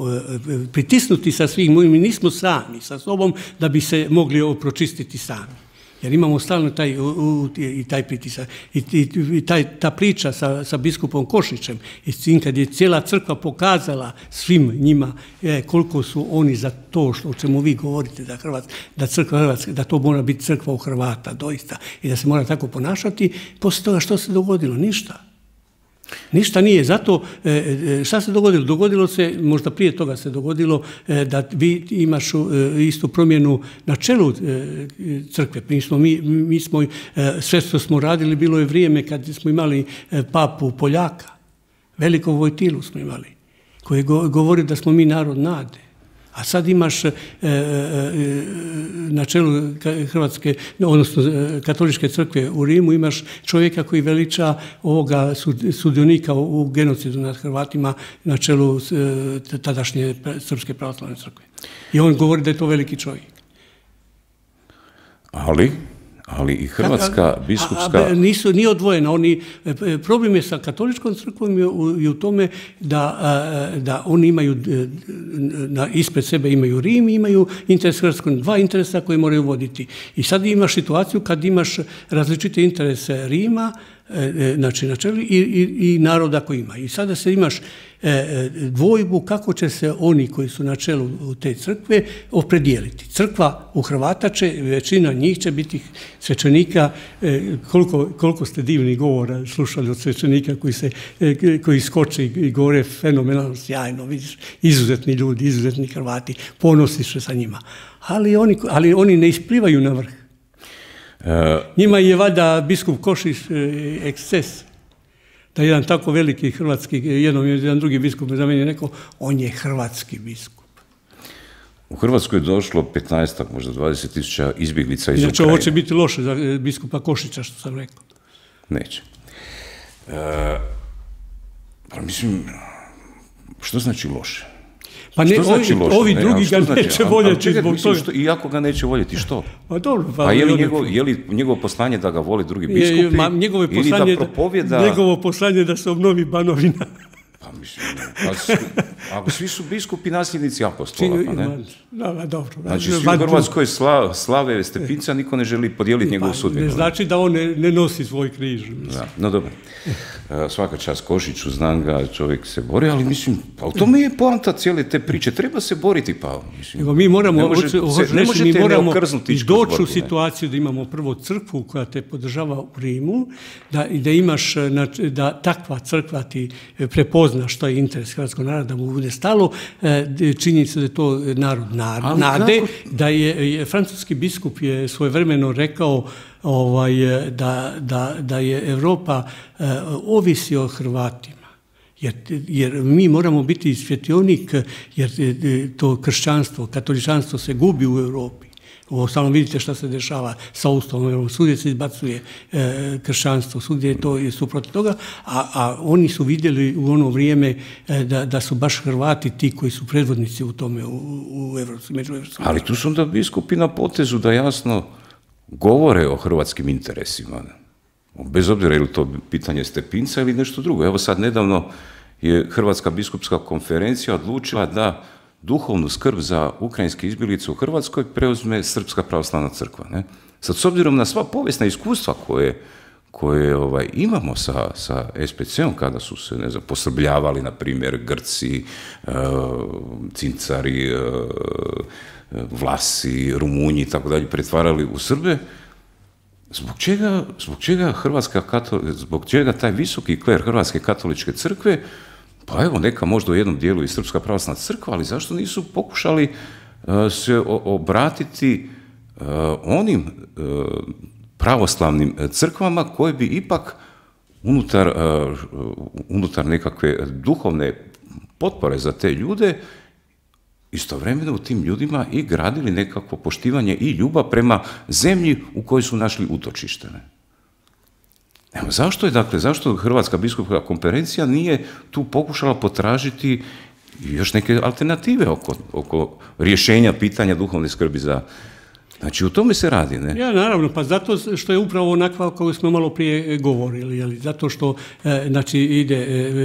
pritisnuti sa svih, mi nismo sami sa sobom da bi se mogli pročistiti sami. Jer imamo stalno taj, u, u, i taj pritisak. I, i, i taj, ta priča sa, sa biskupom Košićem, i kad je cijela crkva pokazala svim njima e, koliko su oni za to što, o čemu vi govorite, da, Hrvatska, da, crkva Hrvatska, da to mora biti crkva u Hrvata, doista, i da se mora tako ponašati, poslije toga što se dogodilo? Ništa. Ništa nije. Zato, šta se dogodilo? Dogodilo se, možda prije toga se dogodilo da vi imaš istu promjenu na čelu crkve. Mi smo, mi, mi smo, sve što smo radili, bilo je vrijeme kad smo imali papu Poljaka, velikog Vojtilu smo imali, koji govori da smo mi narod nade. A sad imaš e, e, na čelu Hrvatske, odnosno katoličke crkve u Rimu, imaš čovjeka koji veliča ovoga sudionika u, u genocidu nad Hrvatima na čelu e, tadašnje Srpske pravoslavne crkve. I on govori da je to veliki čovjek. Ali... ali i Hrvatska biskupska... A, a, nisu, nije odvojena. Oni, problem je sa katoličkom crkvom i u, i u tome da, da oni imaju, na, ispred sebe imaju Rim i imaju interes Hrvatskog, dva interesa koje moraju voditi. I sad imaš situaciju kad imaš različite interese Rima, znači na čelu, i, i, i naroda koji ima. I sada se imaš e, dvojbu kako će se oni koji su na čelu te crkve opredijeliti. Crkva u Hrvata će, većina njih će biti svećenika, e, koliko, koliko ste divnih govora slušali od svećenika koji, se, e, koji skoče i govore fenomenalno, sjajno, vidiš, izuzetni ljudi, izuzetni Hrvati, ponosiš se sa njima. Ali oni, ali oni ne isplivaju na vrh. Njima je valjda biskup Košić eksces. Da jedan tako veliki hrvatski, jednom jedan drugi biskup za mene rekao, on je hrvatski biskup. U Hrvatskoj je došlo petnaest, možda dvadeset tisuća izbjeglica iz znači, Ukrajine. ovo će biti loše za biskupa Košića, što sam rekao. Neće. E, pa mislim, što znači loše? Pa ne, znači ovi, loše, ovi ne, drugi ga znači? neće a, voljeti a, zbog mislim, toga. Što, I ako ga neće voljeti, što? Pa, dobro, pa, pa je li, njegov, je li njegovo poslanje da ga voli drugi biskupi? Je, ma, ili da propovjeda... Njegovo poslanje da se obnovi Banovina. Pa mislim, ako svi su biskupi nasljednici apostola, pa ne? Da, dobro. Znači, svi u Hrvatskoj sla, slave Stepinca, niko ne želi podijeliti njegovu sudbinu. Ne znači da on ne, ne nosi svoj križ. Da, no dobro. Svaka čast Košiću, znam ga, čovjek se bori, ali mislim, pa u tome je poanta cijele te priče, treba se boriti, pa mislim. Nego mi moramo, ne, može, se, ne možete mi moramo doći u ne? situaciju da imamo prvo crkvu koja te podržava u Rimu, da, da imaš, da takva crkva ti prepozna što je interes hrvatskog naroda, da mu bude stalo, činjenica da je to narod nade, da je francuski biskup je svojevremeno rekao ovaj, da, da, da je Europa uh, ovisi o Hrvatima. Jer, jer mi moramo biti svjetionik, jer to kršćanstvo, katoličanstvo se gubi u Europi. Uostalom vidite šta se dešava sa Ustavom, svugdje se izbacuje e, kršćanstvo, svugdje je to je suprotno toga, a, a oni su vidjeli u ono vrijeme e, da, da su baš Hrvati ti koji su predvodnici u tome, u, u Evropskim, među Evropskim. Ali tu su onda biskupi na potezu da jasno govore o hrvatskim interesima. Bez obzira je li to pitanje Stepinca ili nešto drugo. Evo sad nedavno je Hrvatska biskupska konferencija odlučila da duhovnu skrb za ukrajinske izbjeglice u Hrvatskoj preuzme Srpska pravoslavna crkva. Ne? Sad, s obzirom na sva povijesna iskustva koje, koje ovaj, imamo sa, sa S P C-om, kada su se, ne znam, posrbljavali, na primjer, Grci, uh, Cincari, uh, Vlasi, Rumunji i tako dalje, pretvarali u Srbe, zbog čega, zbog čega Hrvatska katol... zbog čega taj visoki kler Hrvatske katoličke crkve, pa evo, neka možda u jednom dijelu i Srpska pravoslavna crkva, ali zašto nisu pokušali uh, se obratiti uh, onim uh, pravoslavnim crkvama koje bi ipak unutar, uh, unutar nekakve duhovne potpore za te ljude istovremeno u tim ljudima i gradili nekakvo poštivanje i ljubav prema zemlji u kojoj su našli utočište. Ne? Evo, zašto je, dakle, zašto Hrvatska biskupska konferencija nije tu pokušala potražiti još neke alternative oko, oko rješenja pitanja duhovne skrbi za... Znači, u tome se radi, ne? Ja, naravno, pa zato što je upravo onakva koju smo malo prije govorili, jeli, zato što e, znači, ide,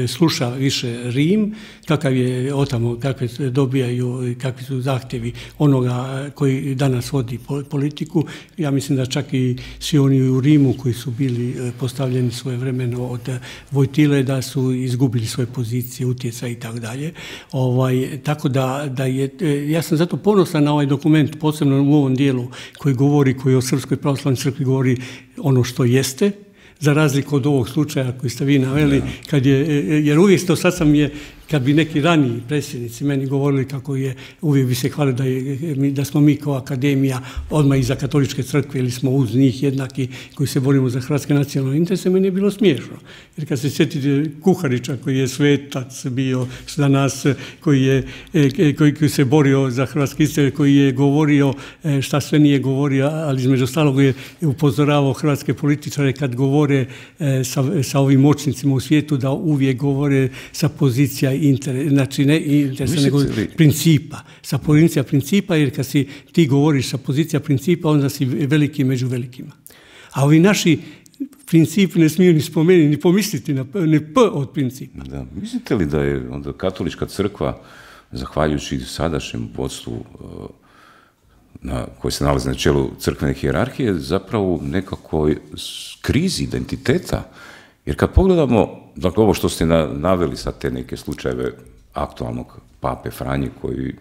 e, sluša više Rim, kakav je otamo, kakve dobijaju, kakvi su zahtjevi onoga koji danas vodi politiku. Ja mislim da čak i svi oni u Rimu koji su bili postavljeni svojevremeno od Vojtile, da su izgubili svoje pozicije, utjecaj i tako dalje. Ovaj, tako da, da je, ja sam zato ponosan na ovaj dokument, posebno u ovom dijelu koji govori, koji o Srpskoj pravoslavnoj crkvi govori ono što jeste, za razliku od ovog slučaja koji ste vi naveli, kad je, jer uvijek to sad sam je, kad bi neki raniji predsjednici meni govorili kako je, uvijek bi se hvalili da, je, da smo mi kao akademija odmah iza katoličke crkve ili smo uz njih jednaki koji se borimo za hrvatske nacionalne interese, meni je bilo smiješno. Jer kad se sjetite Kuharića koji je svetac bio za nas, koji, je, koji, koji se borio za hrvatske interese, koji je govorio šta sve nije govorio, ali između ostalog je upozoravao hrvatske političare kad govore sa, sa ovim moćnicima u svijetu da uvijek govore sa pozicija Inter, znači ne interesa, nego li... principa. Sa pozicija principa, jer kad si ti govoriš sa pozicija principa, onda si veliki među velikima. A ovi naši principi ne smiju ni spomenuti, ni pomisliti na ne p od principa. Da. Mislite li da je onda katolička crkva, zahvaljujući sadašnjem vodstvu na, koji se nalazi na čelu crkvene hijerarhije, zapravo u nekakvoj krizi identiteta? Jer kad pogledamo, dakle, ovo što ste naveli sad te neke slučajeve aktualnog pape Franje, koji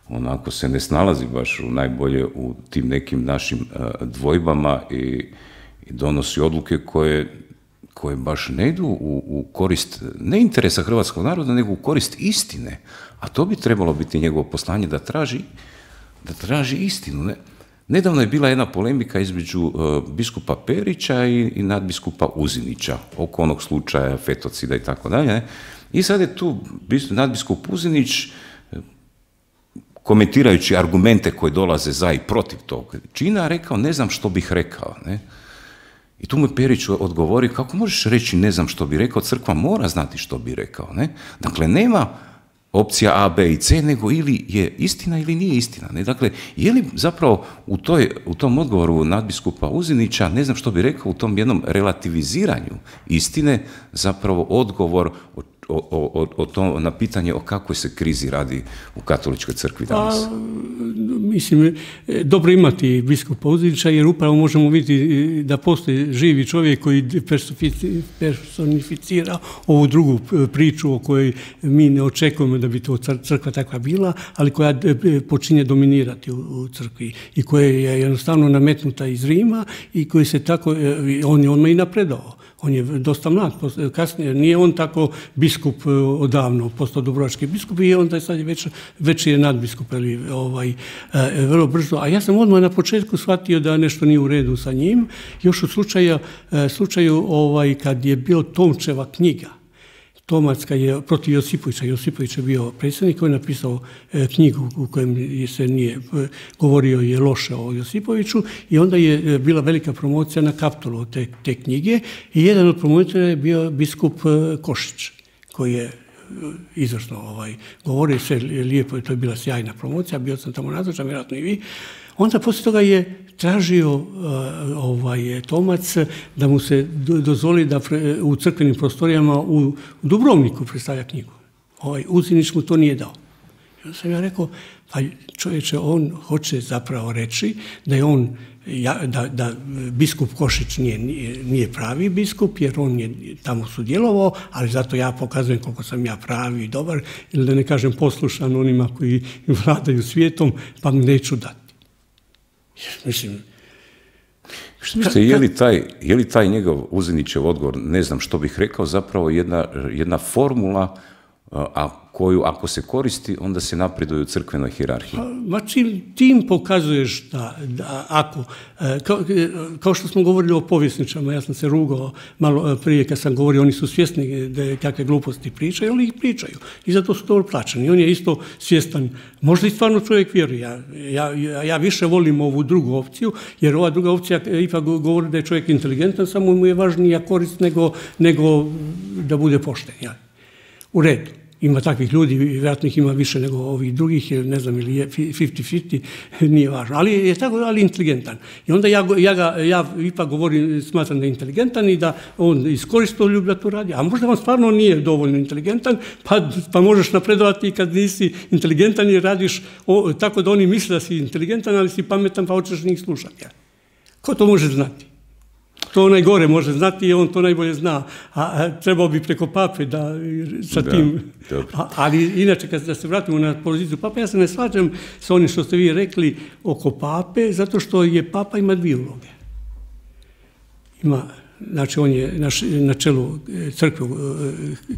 onako se ne snalazi baš najbolje u tim nekim našim uh, dvojbama i, i donosi odluke koje, koje baš ne idu u, u korist, ne interesa hrvatskog naroda, nego u korist istine. A to bi trebalo biti njegovo poslanje, da traži, da traži istinu, ne? Nedavno je bila jedna polemika između uh, biskupa Perića i, i nadbiskupa Uzinića oko onog slučaja fetocida i tako dalje. I sad je tu nadbiskup Uzinić, komentirajući argumente koje dolaze za i protiv tog čina, rekao ne znam što bih rekao. Ne? I tu mu Perić odgovori, kako možeš reći ne znam što bi rekao, crkva mora znati što bi rekao. Ne? Dakle, nema opcija A, B i C, nego ili je istina ili nije istina. Ne? Dakle, je li zapravo u, toj, u tom odgovoru nadbiskupa Uzinića, ne znam što bi rekao, u tom jednom relativiziranju istine, zapravo odgovor o, o, o tom, na pitanje o kakvoj se krizi radi u katoličkoj crkvi danas? Pa, mislim, dobro imati biskupa Uzinića, jer upravo možemo vidjeti da postoji živi čovjek koji personificira ovu drugu priču o kojoj mi ne očekujemo da bi to crkva takva bila, ali koja počinje dominirati u crkvi i koja je jednostavno nametnuta iz Rima i koji se tako, on je odmah i napredao. On je dosta mlad, kasnije nije on tako biskup odavno, postao dubrovački biskup i onda je sad već, već je nadbiskup, ali ovaj, vrlo brzo. A ja sam odmah na početku shvatio da nešto nije u redu sa njim, još u slučaju, slučaju ovaj, kad je bio Tomčeva knjiga, Tomacka je protiv Josipovića. Josipović je bio predsjednik, on je napisao knjigu u kojem se nije govorio je loše o Josipoviću i onda je bila velika promocija na Kaptolu te, te knjige i jedan od promotora je bio biskup Košić, koji je izvrsno ovaj, govorio sve lijepo, to je bila sjajna promocija, bio sam tamo nazočan, vjerojatno i vi. Onda poslije toga je tražio uh, ovaj, Tomac da mu se dozvoli da pre, u crkvenim prostorijama u Dubrovniku predstavlja knjigu. Ovaj, Uzinić mu to nije dao. I onda sam ja rekao, pa čovječe, on hoće zapravo reći da je on, ja, da, da biskup Košić nije, nije pravi biskup, jer on je tamo sudjelovao, ali zato ja pokazujem koliko sam ja pravi i dobar, ili da ne kažem poslušan onima koji vladaju svijetom, pa mu neću dati. Mislim, što mislite, je li taj, je li taj njegov Uzinićev odgovor, ne znam što bih rekao, zapravo jedna, jedna formula a koju ako se koristi, onda se napreduje u crkvenoj hijerarhiji? Ma čim tim pokazuješ da, da ako, kao, kao što smo govorili o povjesničama, ja sam se rugao malo prije kad sam govorio, oni su svjesni da kakve gluposti pričaju, ali ih pričaju i zato su dobro plaćeni. On je isto svjestan, možda i stvarno čovjek vjeruje. Ja, ja, ja više volim ovu drugu opciju, jer ova druga opcija ipak govori da je čovjek inteligentan, samo mu je važnija korist nego, nego da bude pošten. Ja. U redu. Ima takvih ljudi, vjerojatno ih ima više nego ovih drugih, ne znam, ili je pedeset pedeset, nije važno, ali je tako, ali inteligentan. I onda ja, ja, ga, ja ipak govorim, smatram da je inteligentan i da on iskoristio ljubav da to radi, a možda on stvarno nije dovoljno inteligentan, pa, pa možeš napredovati i kad nisi inteligentan i radiš o, tako da oni misle da si inteligentan, ali si pametan pa hoćeš njih slušati. Ko to može znati? To onaj gore može znati i on to najbolje zna, a, a trebao bi preko pape da sa da, tim, a, ali inače kad da se vratimo na poziciju pape, ja se ne slažem sa onim što ste vi rekli oko pape, zato što je papa ima dvije uloge. Ima, znači on je na, na čelu crkve,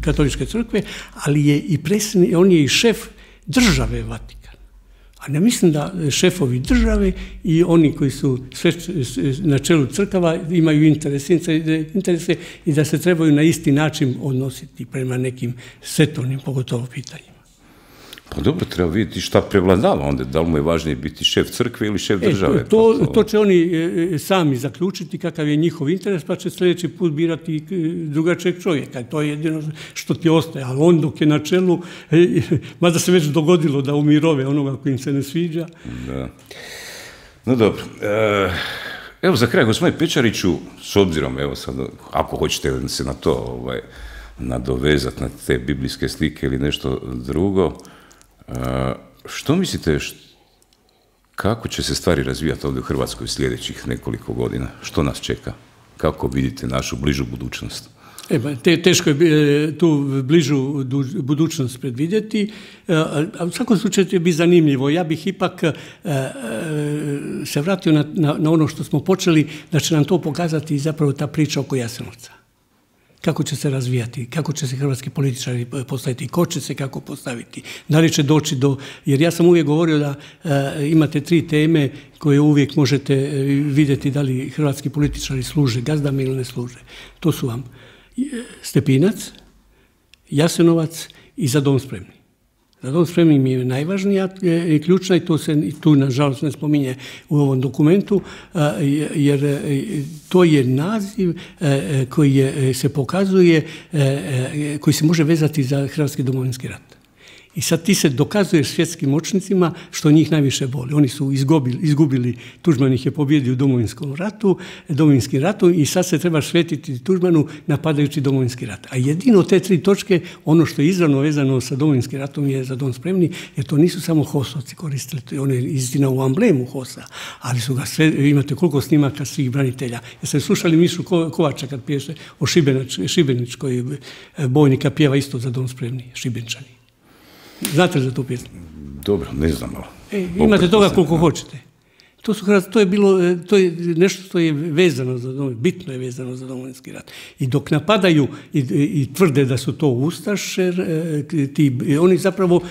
katoličke crkve, ali je i predsjednik, on je i šef države Vatikana. A ne mislim da šefovi države i oni koji su sve na čelu crkava imaju interese, interese i da se trebaju na isti način odnositi prema nekim svetovnim, pogotovo pitanjima. Pa dobro, treba vidjeti šta prevladava onda, da li mu je važnije biti šef crkve ili šef države. E, to, to, to će oni sami zaključiti kakav je njihov interes, pa će sljedeći put birati drugačijeg čovjeka. To je jedino što ti ostaje, ali on dok je na čelu, mada se već dogodilo da umirove onoga koji im se ne sviđa. Da. No dobro. E, evo za kraj, gospodine Pečariću, s obzirom, evo sad, ako hoćete se na to ovaj, nadovezati, na te biblijske slike ili nešto drugo, Uh, što mislite, št, kako će se stvari razvijati ovdje u Hrvatskoj sljedećih nekoliko godina? Što nas čeka? Kako vidite našu bližu budućnost? E, te, teško je tu bližu budućnost predvidjeti, a u svakom slučaju će biti zanimljivo. Ja bih ipak se vratio na, na, na ono što smo počeli, da će nam to pokazati zapravo ta priča oko Jasenovca. Kako će se razvijati, kako će se hrvatski političari postaviti, ko će se kako postaviti, da li će doći do, jer ja sam uvijek govorio da e, imate tri teme koje uvijek možete vidjeti da li hrvatski političari služe gazdama ili ne služe. To su vam Stepinac, Jasenovac i Za dom spremni. Za dom spremni mi je najvažnija i ključna i to se tu nažalost ne spominje u ovom dokumentu, jer to je naziv koji je, se pokazuje, koji se može vezati za Hrvatski domovinski rat. I sad ti se dokazuješ svjetskim moćnicima što njih najviše boli. Oni su izgubili, izgubili Tuđman ih je pobjedio u Domovinskom ratu, Domovinskim ratom i sad se treba svetiti Tuđmanu napadajući Domovinski rat. A jedino te tri točke, ono što je izravno vezano sa Domovinskim ratom je Za dom spremni, jer to nisu samo HOS-ovci koristili, to je on je istina u amblemu HOS-a, ali su ga sve, imate koliko snimaka svih branitelja. Jeste slušali Mišu Kovača kad piješe o Šibeničkoj bojnika, pjeva isto Za dom spremni, Šibenčani. Znate li za tu pjesmu? Dobro, ne znam, ali... E, imate toga koliko hoćete. To, su, to je bilo, to je nešto što je vezano za Domovinski, bitno je vezano za Domovinski rat. I dok napadaju i, i tvrde da su to ustaše, ti, oni zapravo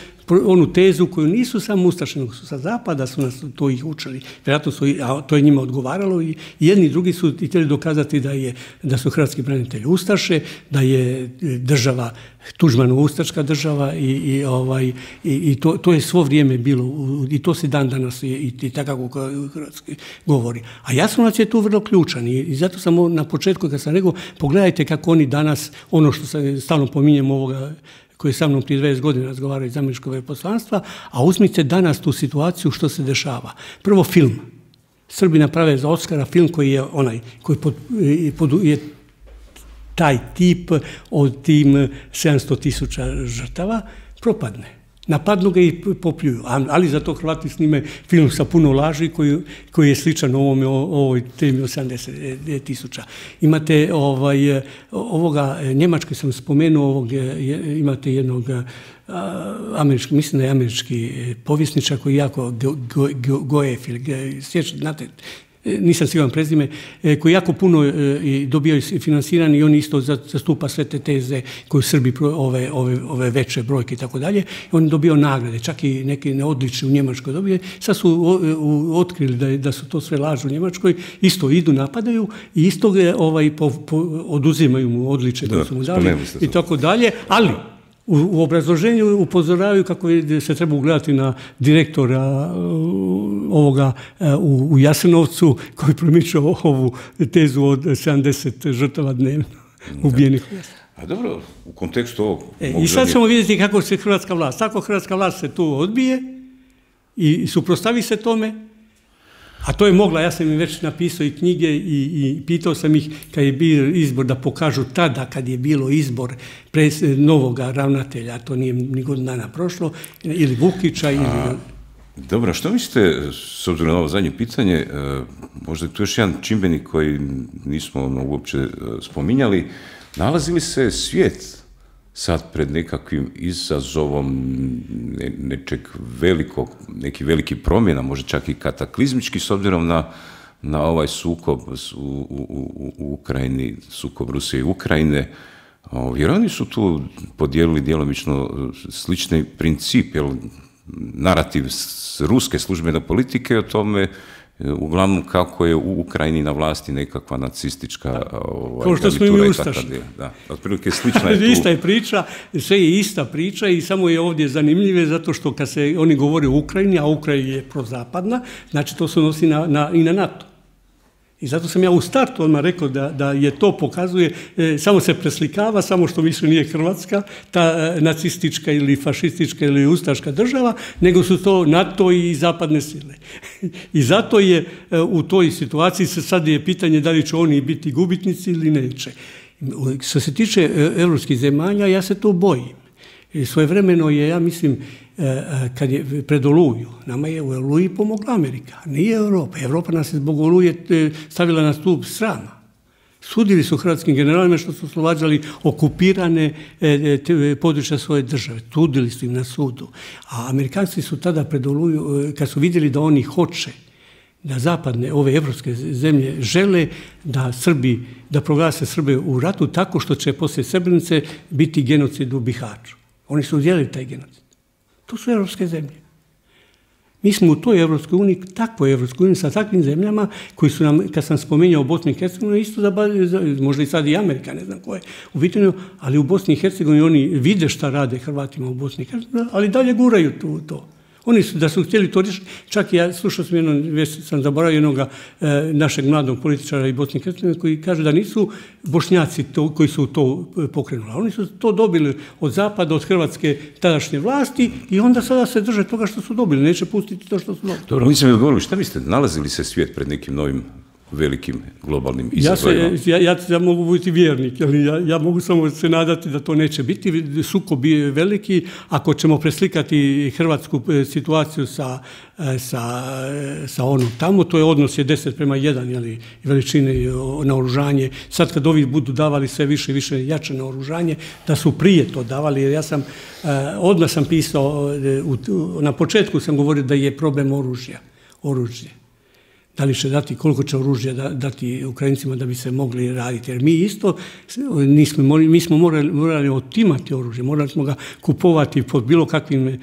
onu tezu koju nisu samo ustaše, nego su sa zapada, su nas to ih učili. Vjerojatno su, a to je njima odgovaralo i jedni i drugi su htjeli dokazati da, je, da su hrvatski branitelji ustaše, da je država Tuđmanova ustaška država i, i, ovaj, i, i to, to je svo vrijeme bilo i to se dan danas i, i, i tako kako hrvatski govori. A Jasenovac je tu vrlo ključan i, i zato sam na početku kad sam rekao, pogledajte kako oni danas, ono što se stalno pominjem ovoga koji sa mnom prije dvadeset godina razgovaraju iz američkog veleposlanstva, a uzmite danas tu situaciju što se dešava. Prvo film. Srbi naprave za Oskara film koji je onaj, koji pod, pod, je taj tip od tim sedamsto tisuća žrtava, propadne. Napadnu ga i popljuju, ali zato Hrvati snime film sa puno laži koji, koji je sličan ovome, ovoj temi od sedamdeset tisuća. Imate ovaj, ovoga, Njemačke sam spomenuo, ovog, imate jednog američki, mislim da je američki povjesničar koji je jako Goef, znate, nisam siguran prezime, koji jako puno dobio financirani i on isto zastupa sve te teze koje Srbi ove, ove, ove veće brojke i tako dalje. On je dobio nagrade, čak i neke neodlične u Njemačkoj dobije. Sad su otkrili da, da su to sve laži u Njemačkoj, isto idu, napadaju i isto ovaj, po, po, oduzimaju mu odličje koje su mu dali i tako dalje, ali U, u obrazloženju upozoravaju kako je, se treba ugledati na direktora ovoga u, u Jasenovcu koji promiče ovu tezu od sedamdeset žrtava dnevno ubijenih. A dobro, u kontekstu ovog... E, I sad ćemo vidjeti kako se hrvatska vlast, ako hrvatska vlast se tu odbije i suprotstavi se tome, a to je mogla, ja sam im već napisao i knjige i, i pitao sam ih kad je bio izbor da pokažu tada kad je bilo izbor pres, novoga ravnatelja, to nije ni godinu dana prošlo, ili Vukića ili... A, dobro, što mislite, s obzirom na ovo zadnje pitanje, možda je tu još jedan čimbenik koji nismo ono, uopće spominjali, nalazi li se svijet sad pred nekakvim izazovom ne, nečeg velikog, neki veliki promjena, možda čak i kataklizmički, s obzirom na, na ovaj sukob u, u, u, u Ukrajini, sukob Rusije i Ukrajine, jer oni su tu podijelili djelomično slični princip, jer narativ s ruske službene politike o tome uglavnom kako je u Ukrajini na vlasti nekakva nacistička ovaj, kao što smo i mi ustašni. Da, otprilike slična je tu. Ista je priča, sve je ista priča i samo je ovdje zanimljive zato što kad se oni govore o Ukrajini, a Ukrajina je prozapadna, znači to se odnosi na, na, i na NATO. I zato sam ja u startu odmah rekao da, da je to pokazuje, e, samo se preslikava, samo što više nije Hrvatska, ta e, nacistička ili fašistička ili ustaška država, nego su to NATO i zapadne sile. I zato je e, u toj situaciji se sad je pitanje da li će oni biti gubitnici ili neće. Što se tiče e, evropskih zemalja, ja se to bojim. I svojevremeno je, ja mislim, kad je pred Oluju, nama je u Oluji pomogla Amerika, nije Europa. Europa nas je zbog Oluje stavila na stup srama. Sudili su hrvatskim generalima što su oslobađali okupirane područja svoje države. Sudili su im na sudu. A Amerikanci su tada pred Oluju, kad su vidjeli da oni hoće, da zapadne, ove evropske zemlje žele da Srbi, da proglase Srbe u ratu tako što će poslije Srebrenice biti genocid u Bihaću. Oni su udjelili taj genocid. To su evropske zemlje. Mi smo u toj Evropskoj uniji, takvoj Evropskoj uniji, sa takvim zemljama koji su nam, kad sam spomenuo Bosnu i Hercegovinu, isto da, možda i sad i Amerika, ne znam ko je u pitanju, ali u Bosni i Hercegovini oni vide šta rade Hrvatima u Bosni i Hercegovini, ali dalje guraju tu, to. Oni su, da su htjeli to riješiti, čak i ja slušao sam jednom, već sam zaboravio jednog e, našeg mladog političara i Bosne i Hercegovine koji kaže da nisu Bošnjaci to, koji su to pokrenuli. Oni su to dobili od zapada, od hrvatske tadašnje vlasti i onda sada se drže toga što su dobili. Neće pustiti to što su dobili. Dobro, mi smo mi odgovorili, šta mislite, nalazili se svijet pred nekim novim velikim globalnim izazovima? Ja, se, ja, ja, ja mogu biti vjernik, ali ja, ja mogu samo se nadati da to neće biti. Sukob je veliki. Ako ćemo preslikati hrvatsku situaciju sa, sa, sa onom tamo, to je odnos je deset prema jedan, jeli, veličine naoružanje. Sad kad ovi budu davali sve više i više jače naoružanje, da su prije to davali, jer ja sam, odmah sam pisao, na početku sam govorio da je problem oružja, oružje. Da li će dati, koliko će oružja dati Ukrajincima da bi se mogli raditi. Jer mi isto, nismo, mi smo morali, morali otimati oružje, morali smo ga kupovati pod bilo kakvim e,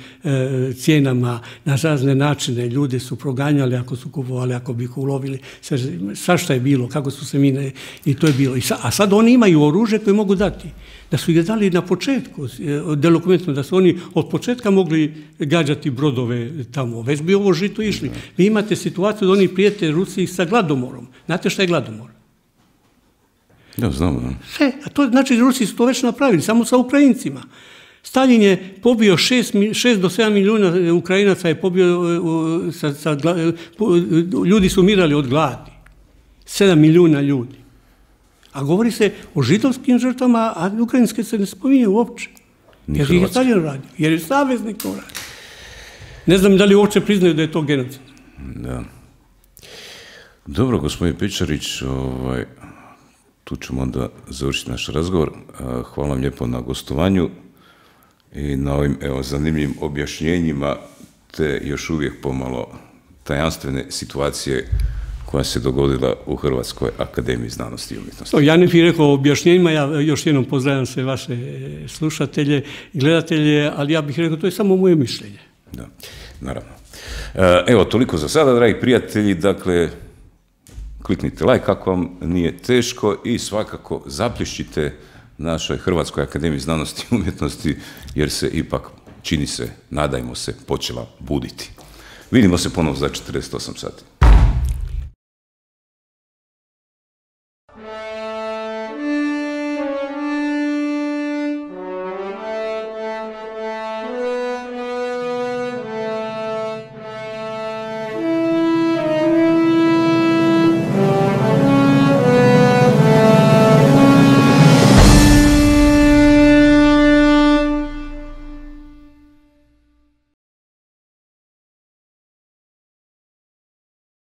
cijenama, na razne načine. Ljude su proganjali ako su kupovali, ako bi ih ulovili. Svašta je bilo, kako su se mine, i to je bilo. I sa, a sad oni imaju oružje koje mogu dati. Da su ih dali na početku, delokumentno, da su oni od početka mogli gađati brodove tamo. Već bi ovo žito išli. Vi imate situaciju da oni prijete Rusiji sa gladomorom. Znate šta je gladomor? Ja znam. Sve, a to znači da Rusi su to već napravili, samo sa Ukrajincima. Stalin je pobio šest do sedam milijuna Ukrajinaca, je pobio, sa, sa, ljudi su umirali od gladi. sedam milijuna ljudi. A govori se o židovskim žrtvama, a ukrajinske se ne spominje uopće. Jer ih je Stalin radio, jer je saveznik to radio. Ne znam da li uopće priznaju da je to genocid. Da. Dobro, gospodin Pečarić, ovaj, tu ćemo onda završiti naš razgovor. Hvala vam lijepo na gostovanju i na ovim evo, zanimljivim objašnjenjima te još uvijek pomalo tajanstvene situacije koja se dogodila u Hrvatskoj akademiji znanosti i umjetnosti. Ja ne bih rekao o objašnjenjima, ja još jednom pozdravljam sve vaše slušatelje i gledatelje, ali ja bih rekao to je samo moje mišljenje. Da, naravno. Evo, toliko za sada, dragi prijatelji, dakle, kliknite like ako vam nije teško i svakako zaplješćite našoj Hrvatskoj akademiji znanosti i umjetnosti, jer se ipak, čini se, nadajmo se, počela buditi. Vidimo se ponovno za četrdeset osam sati.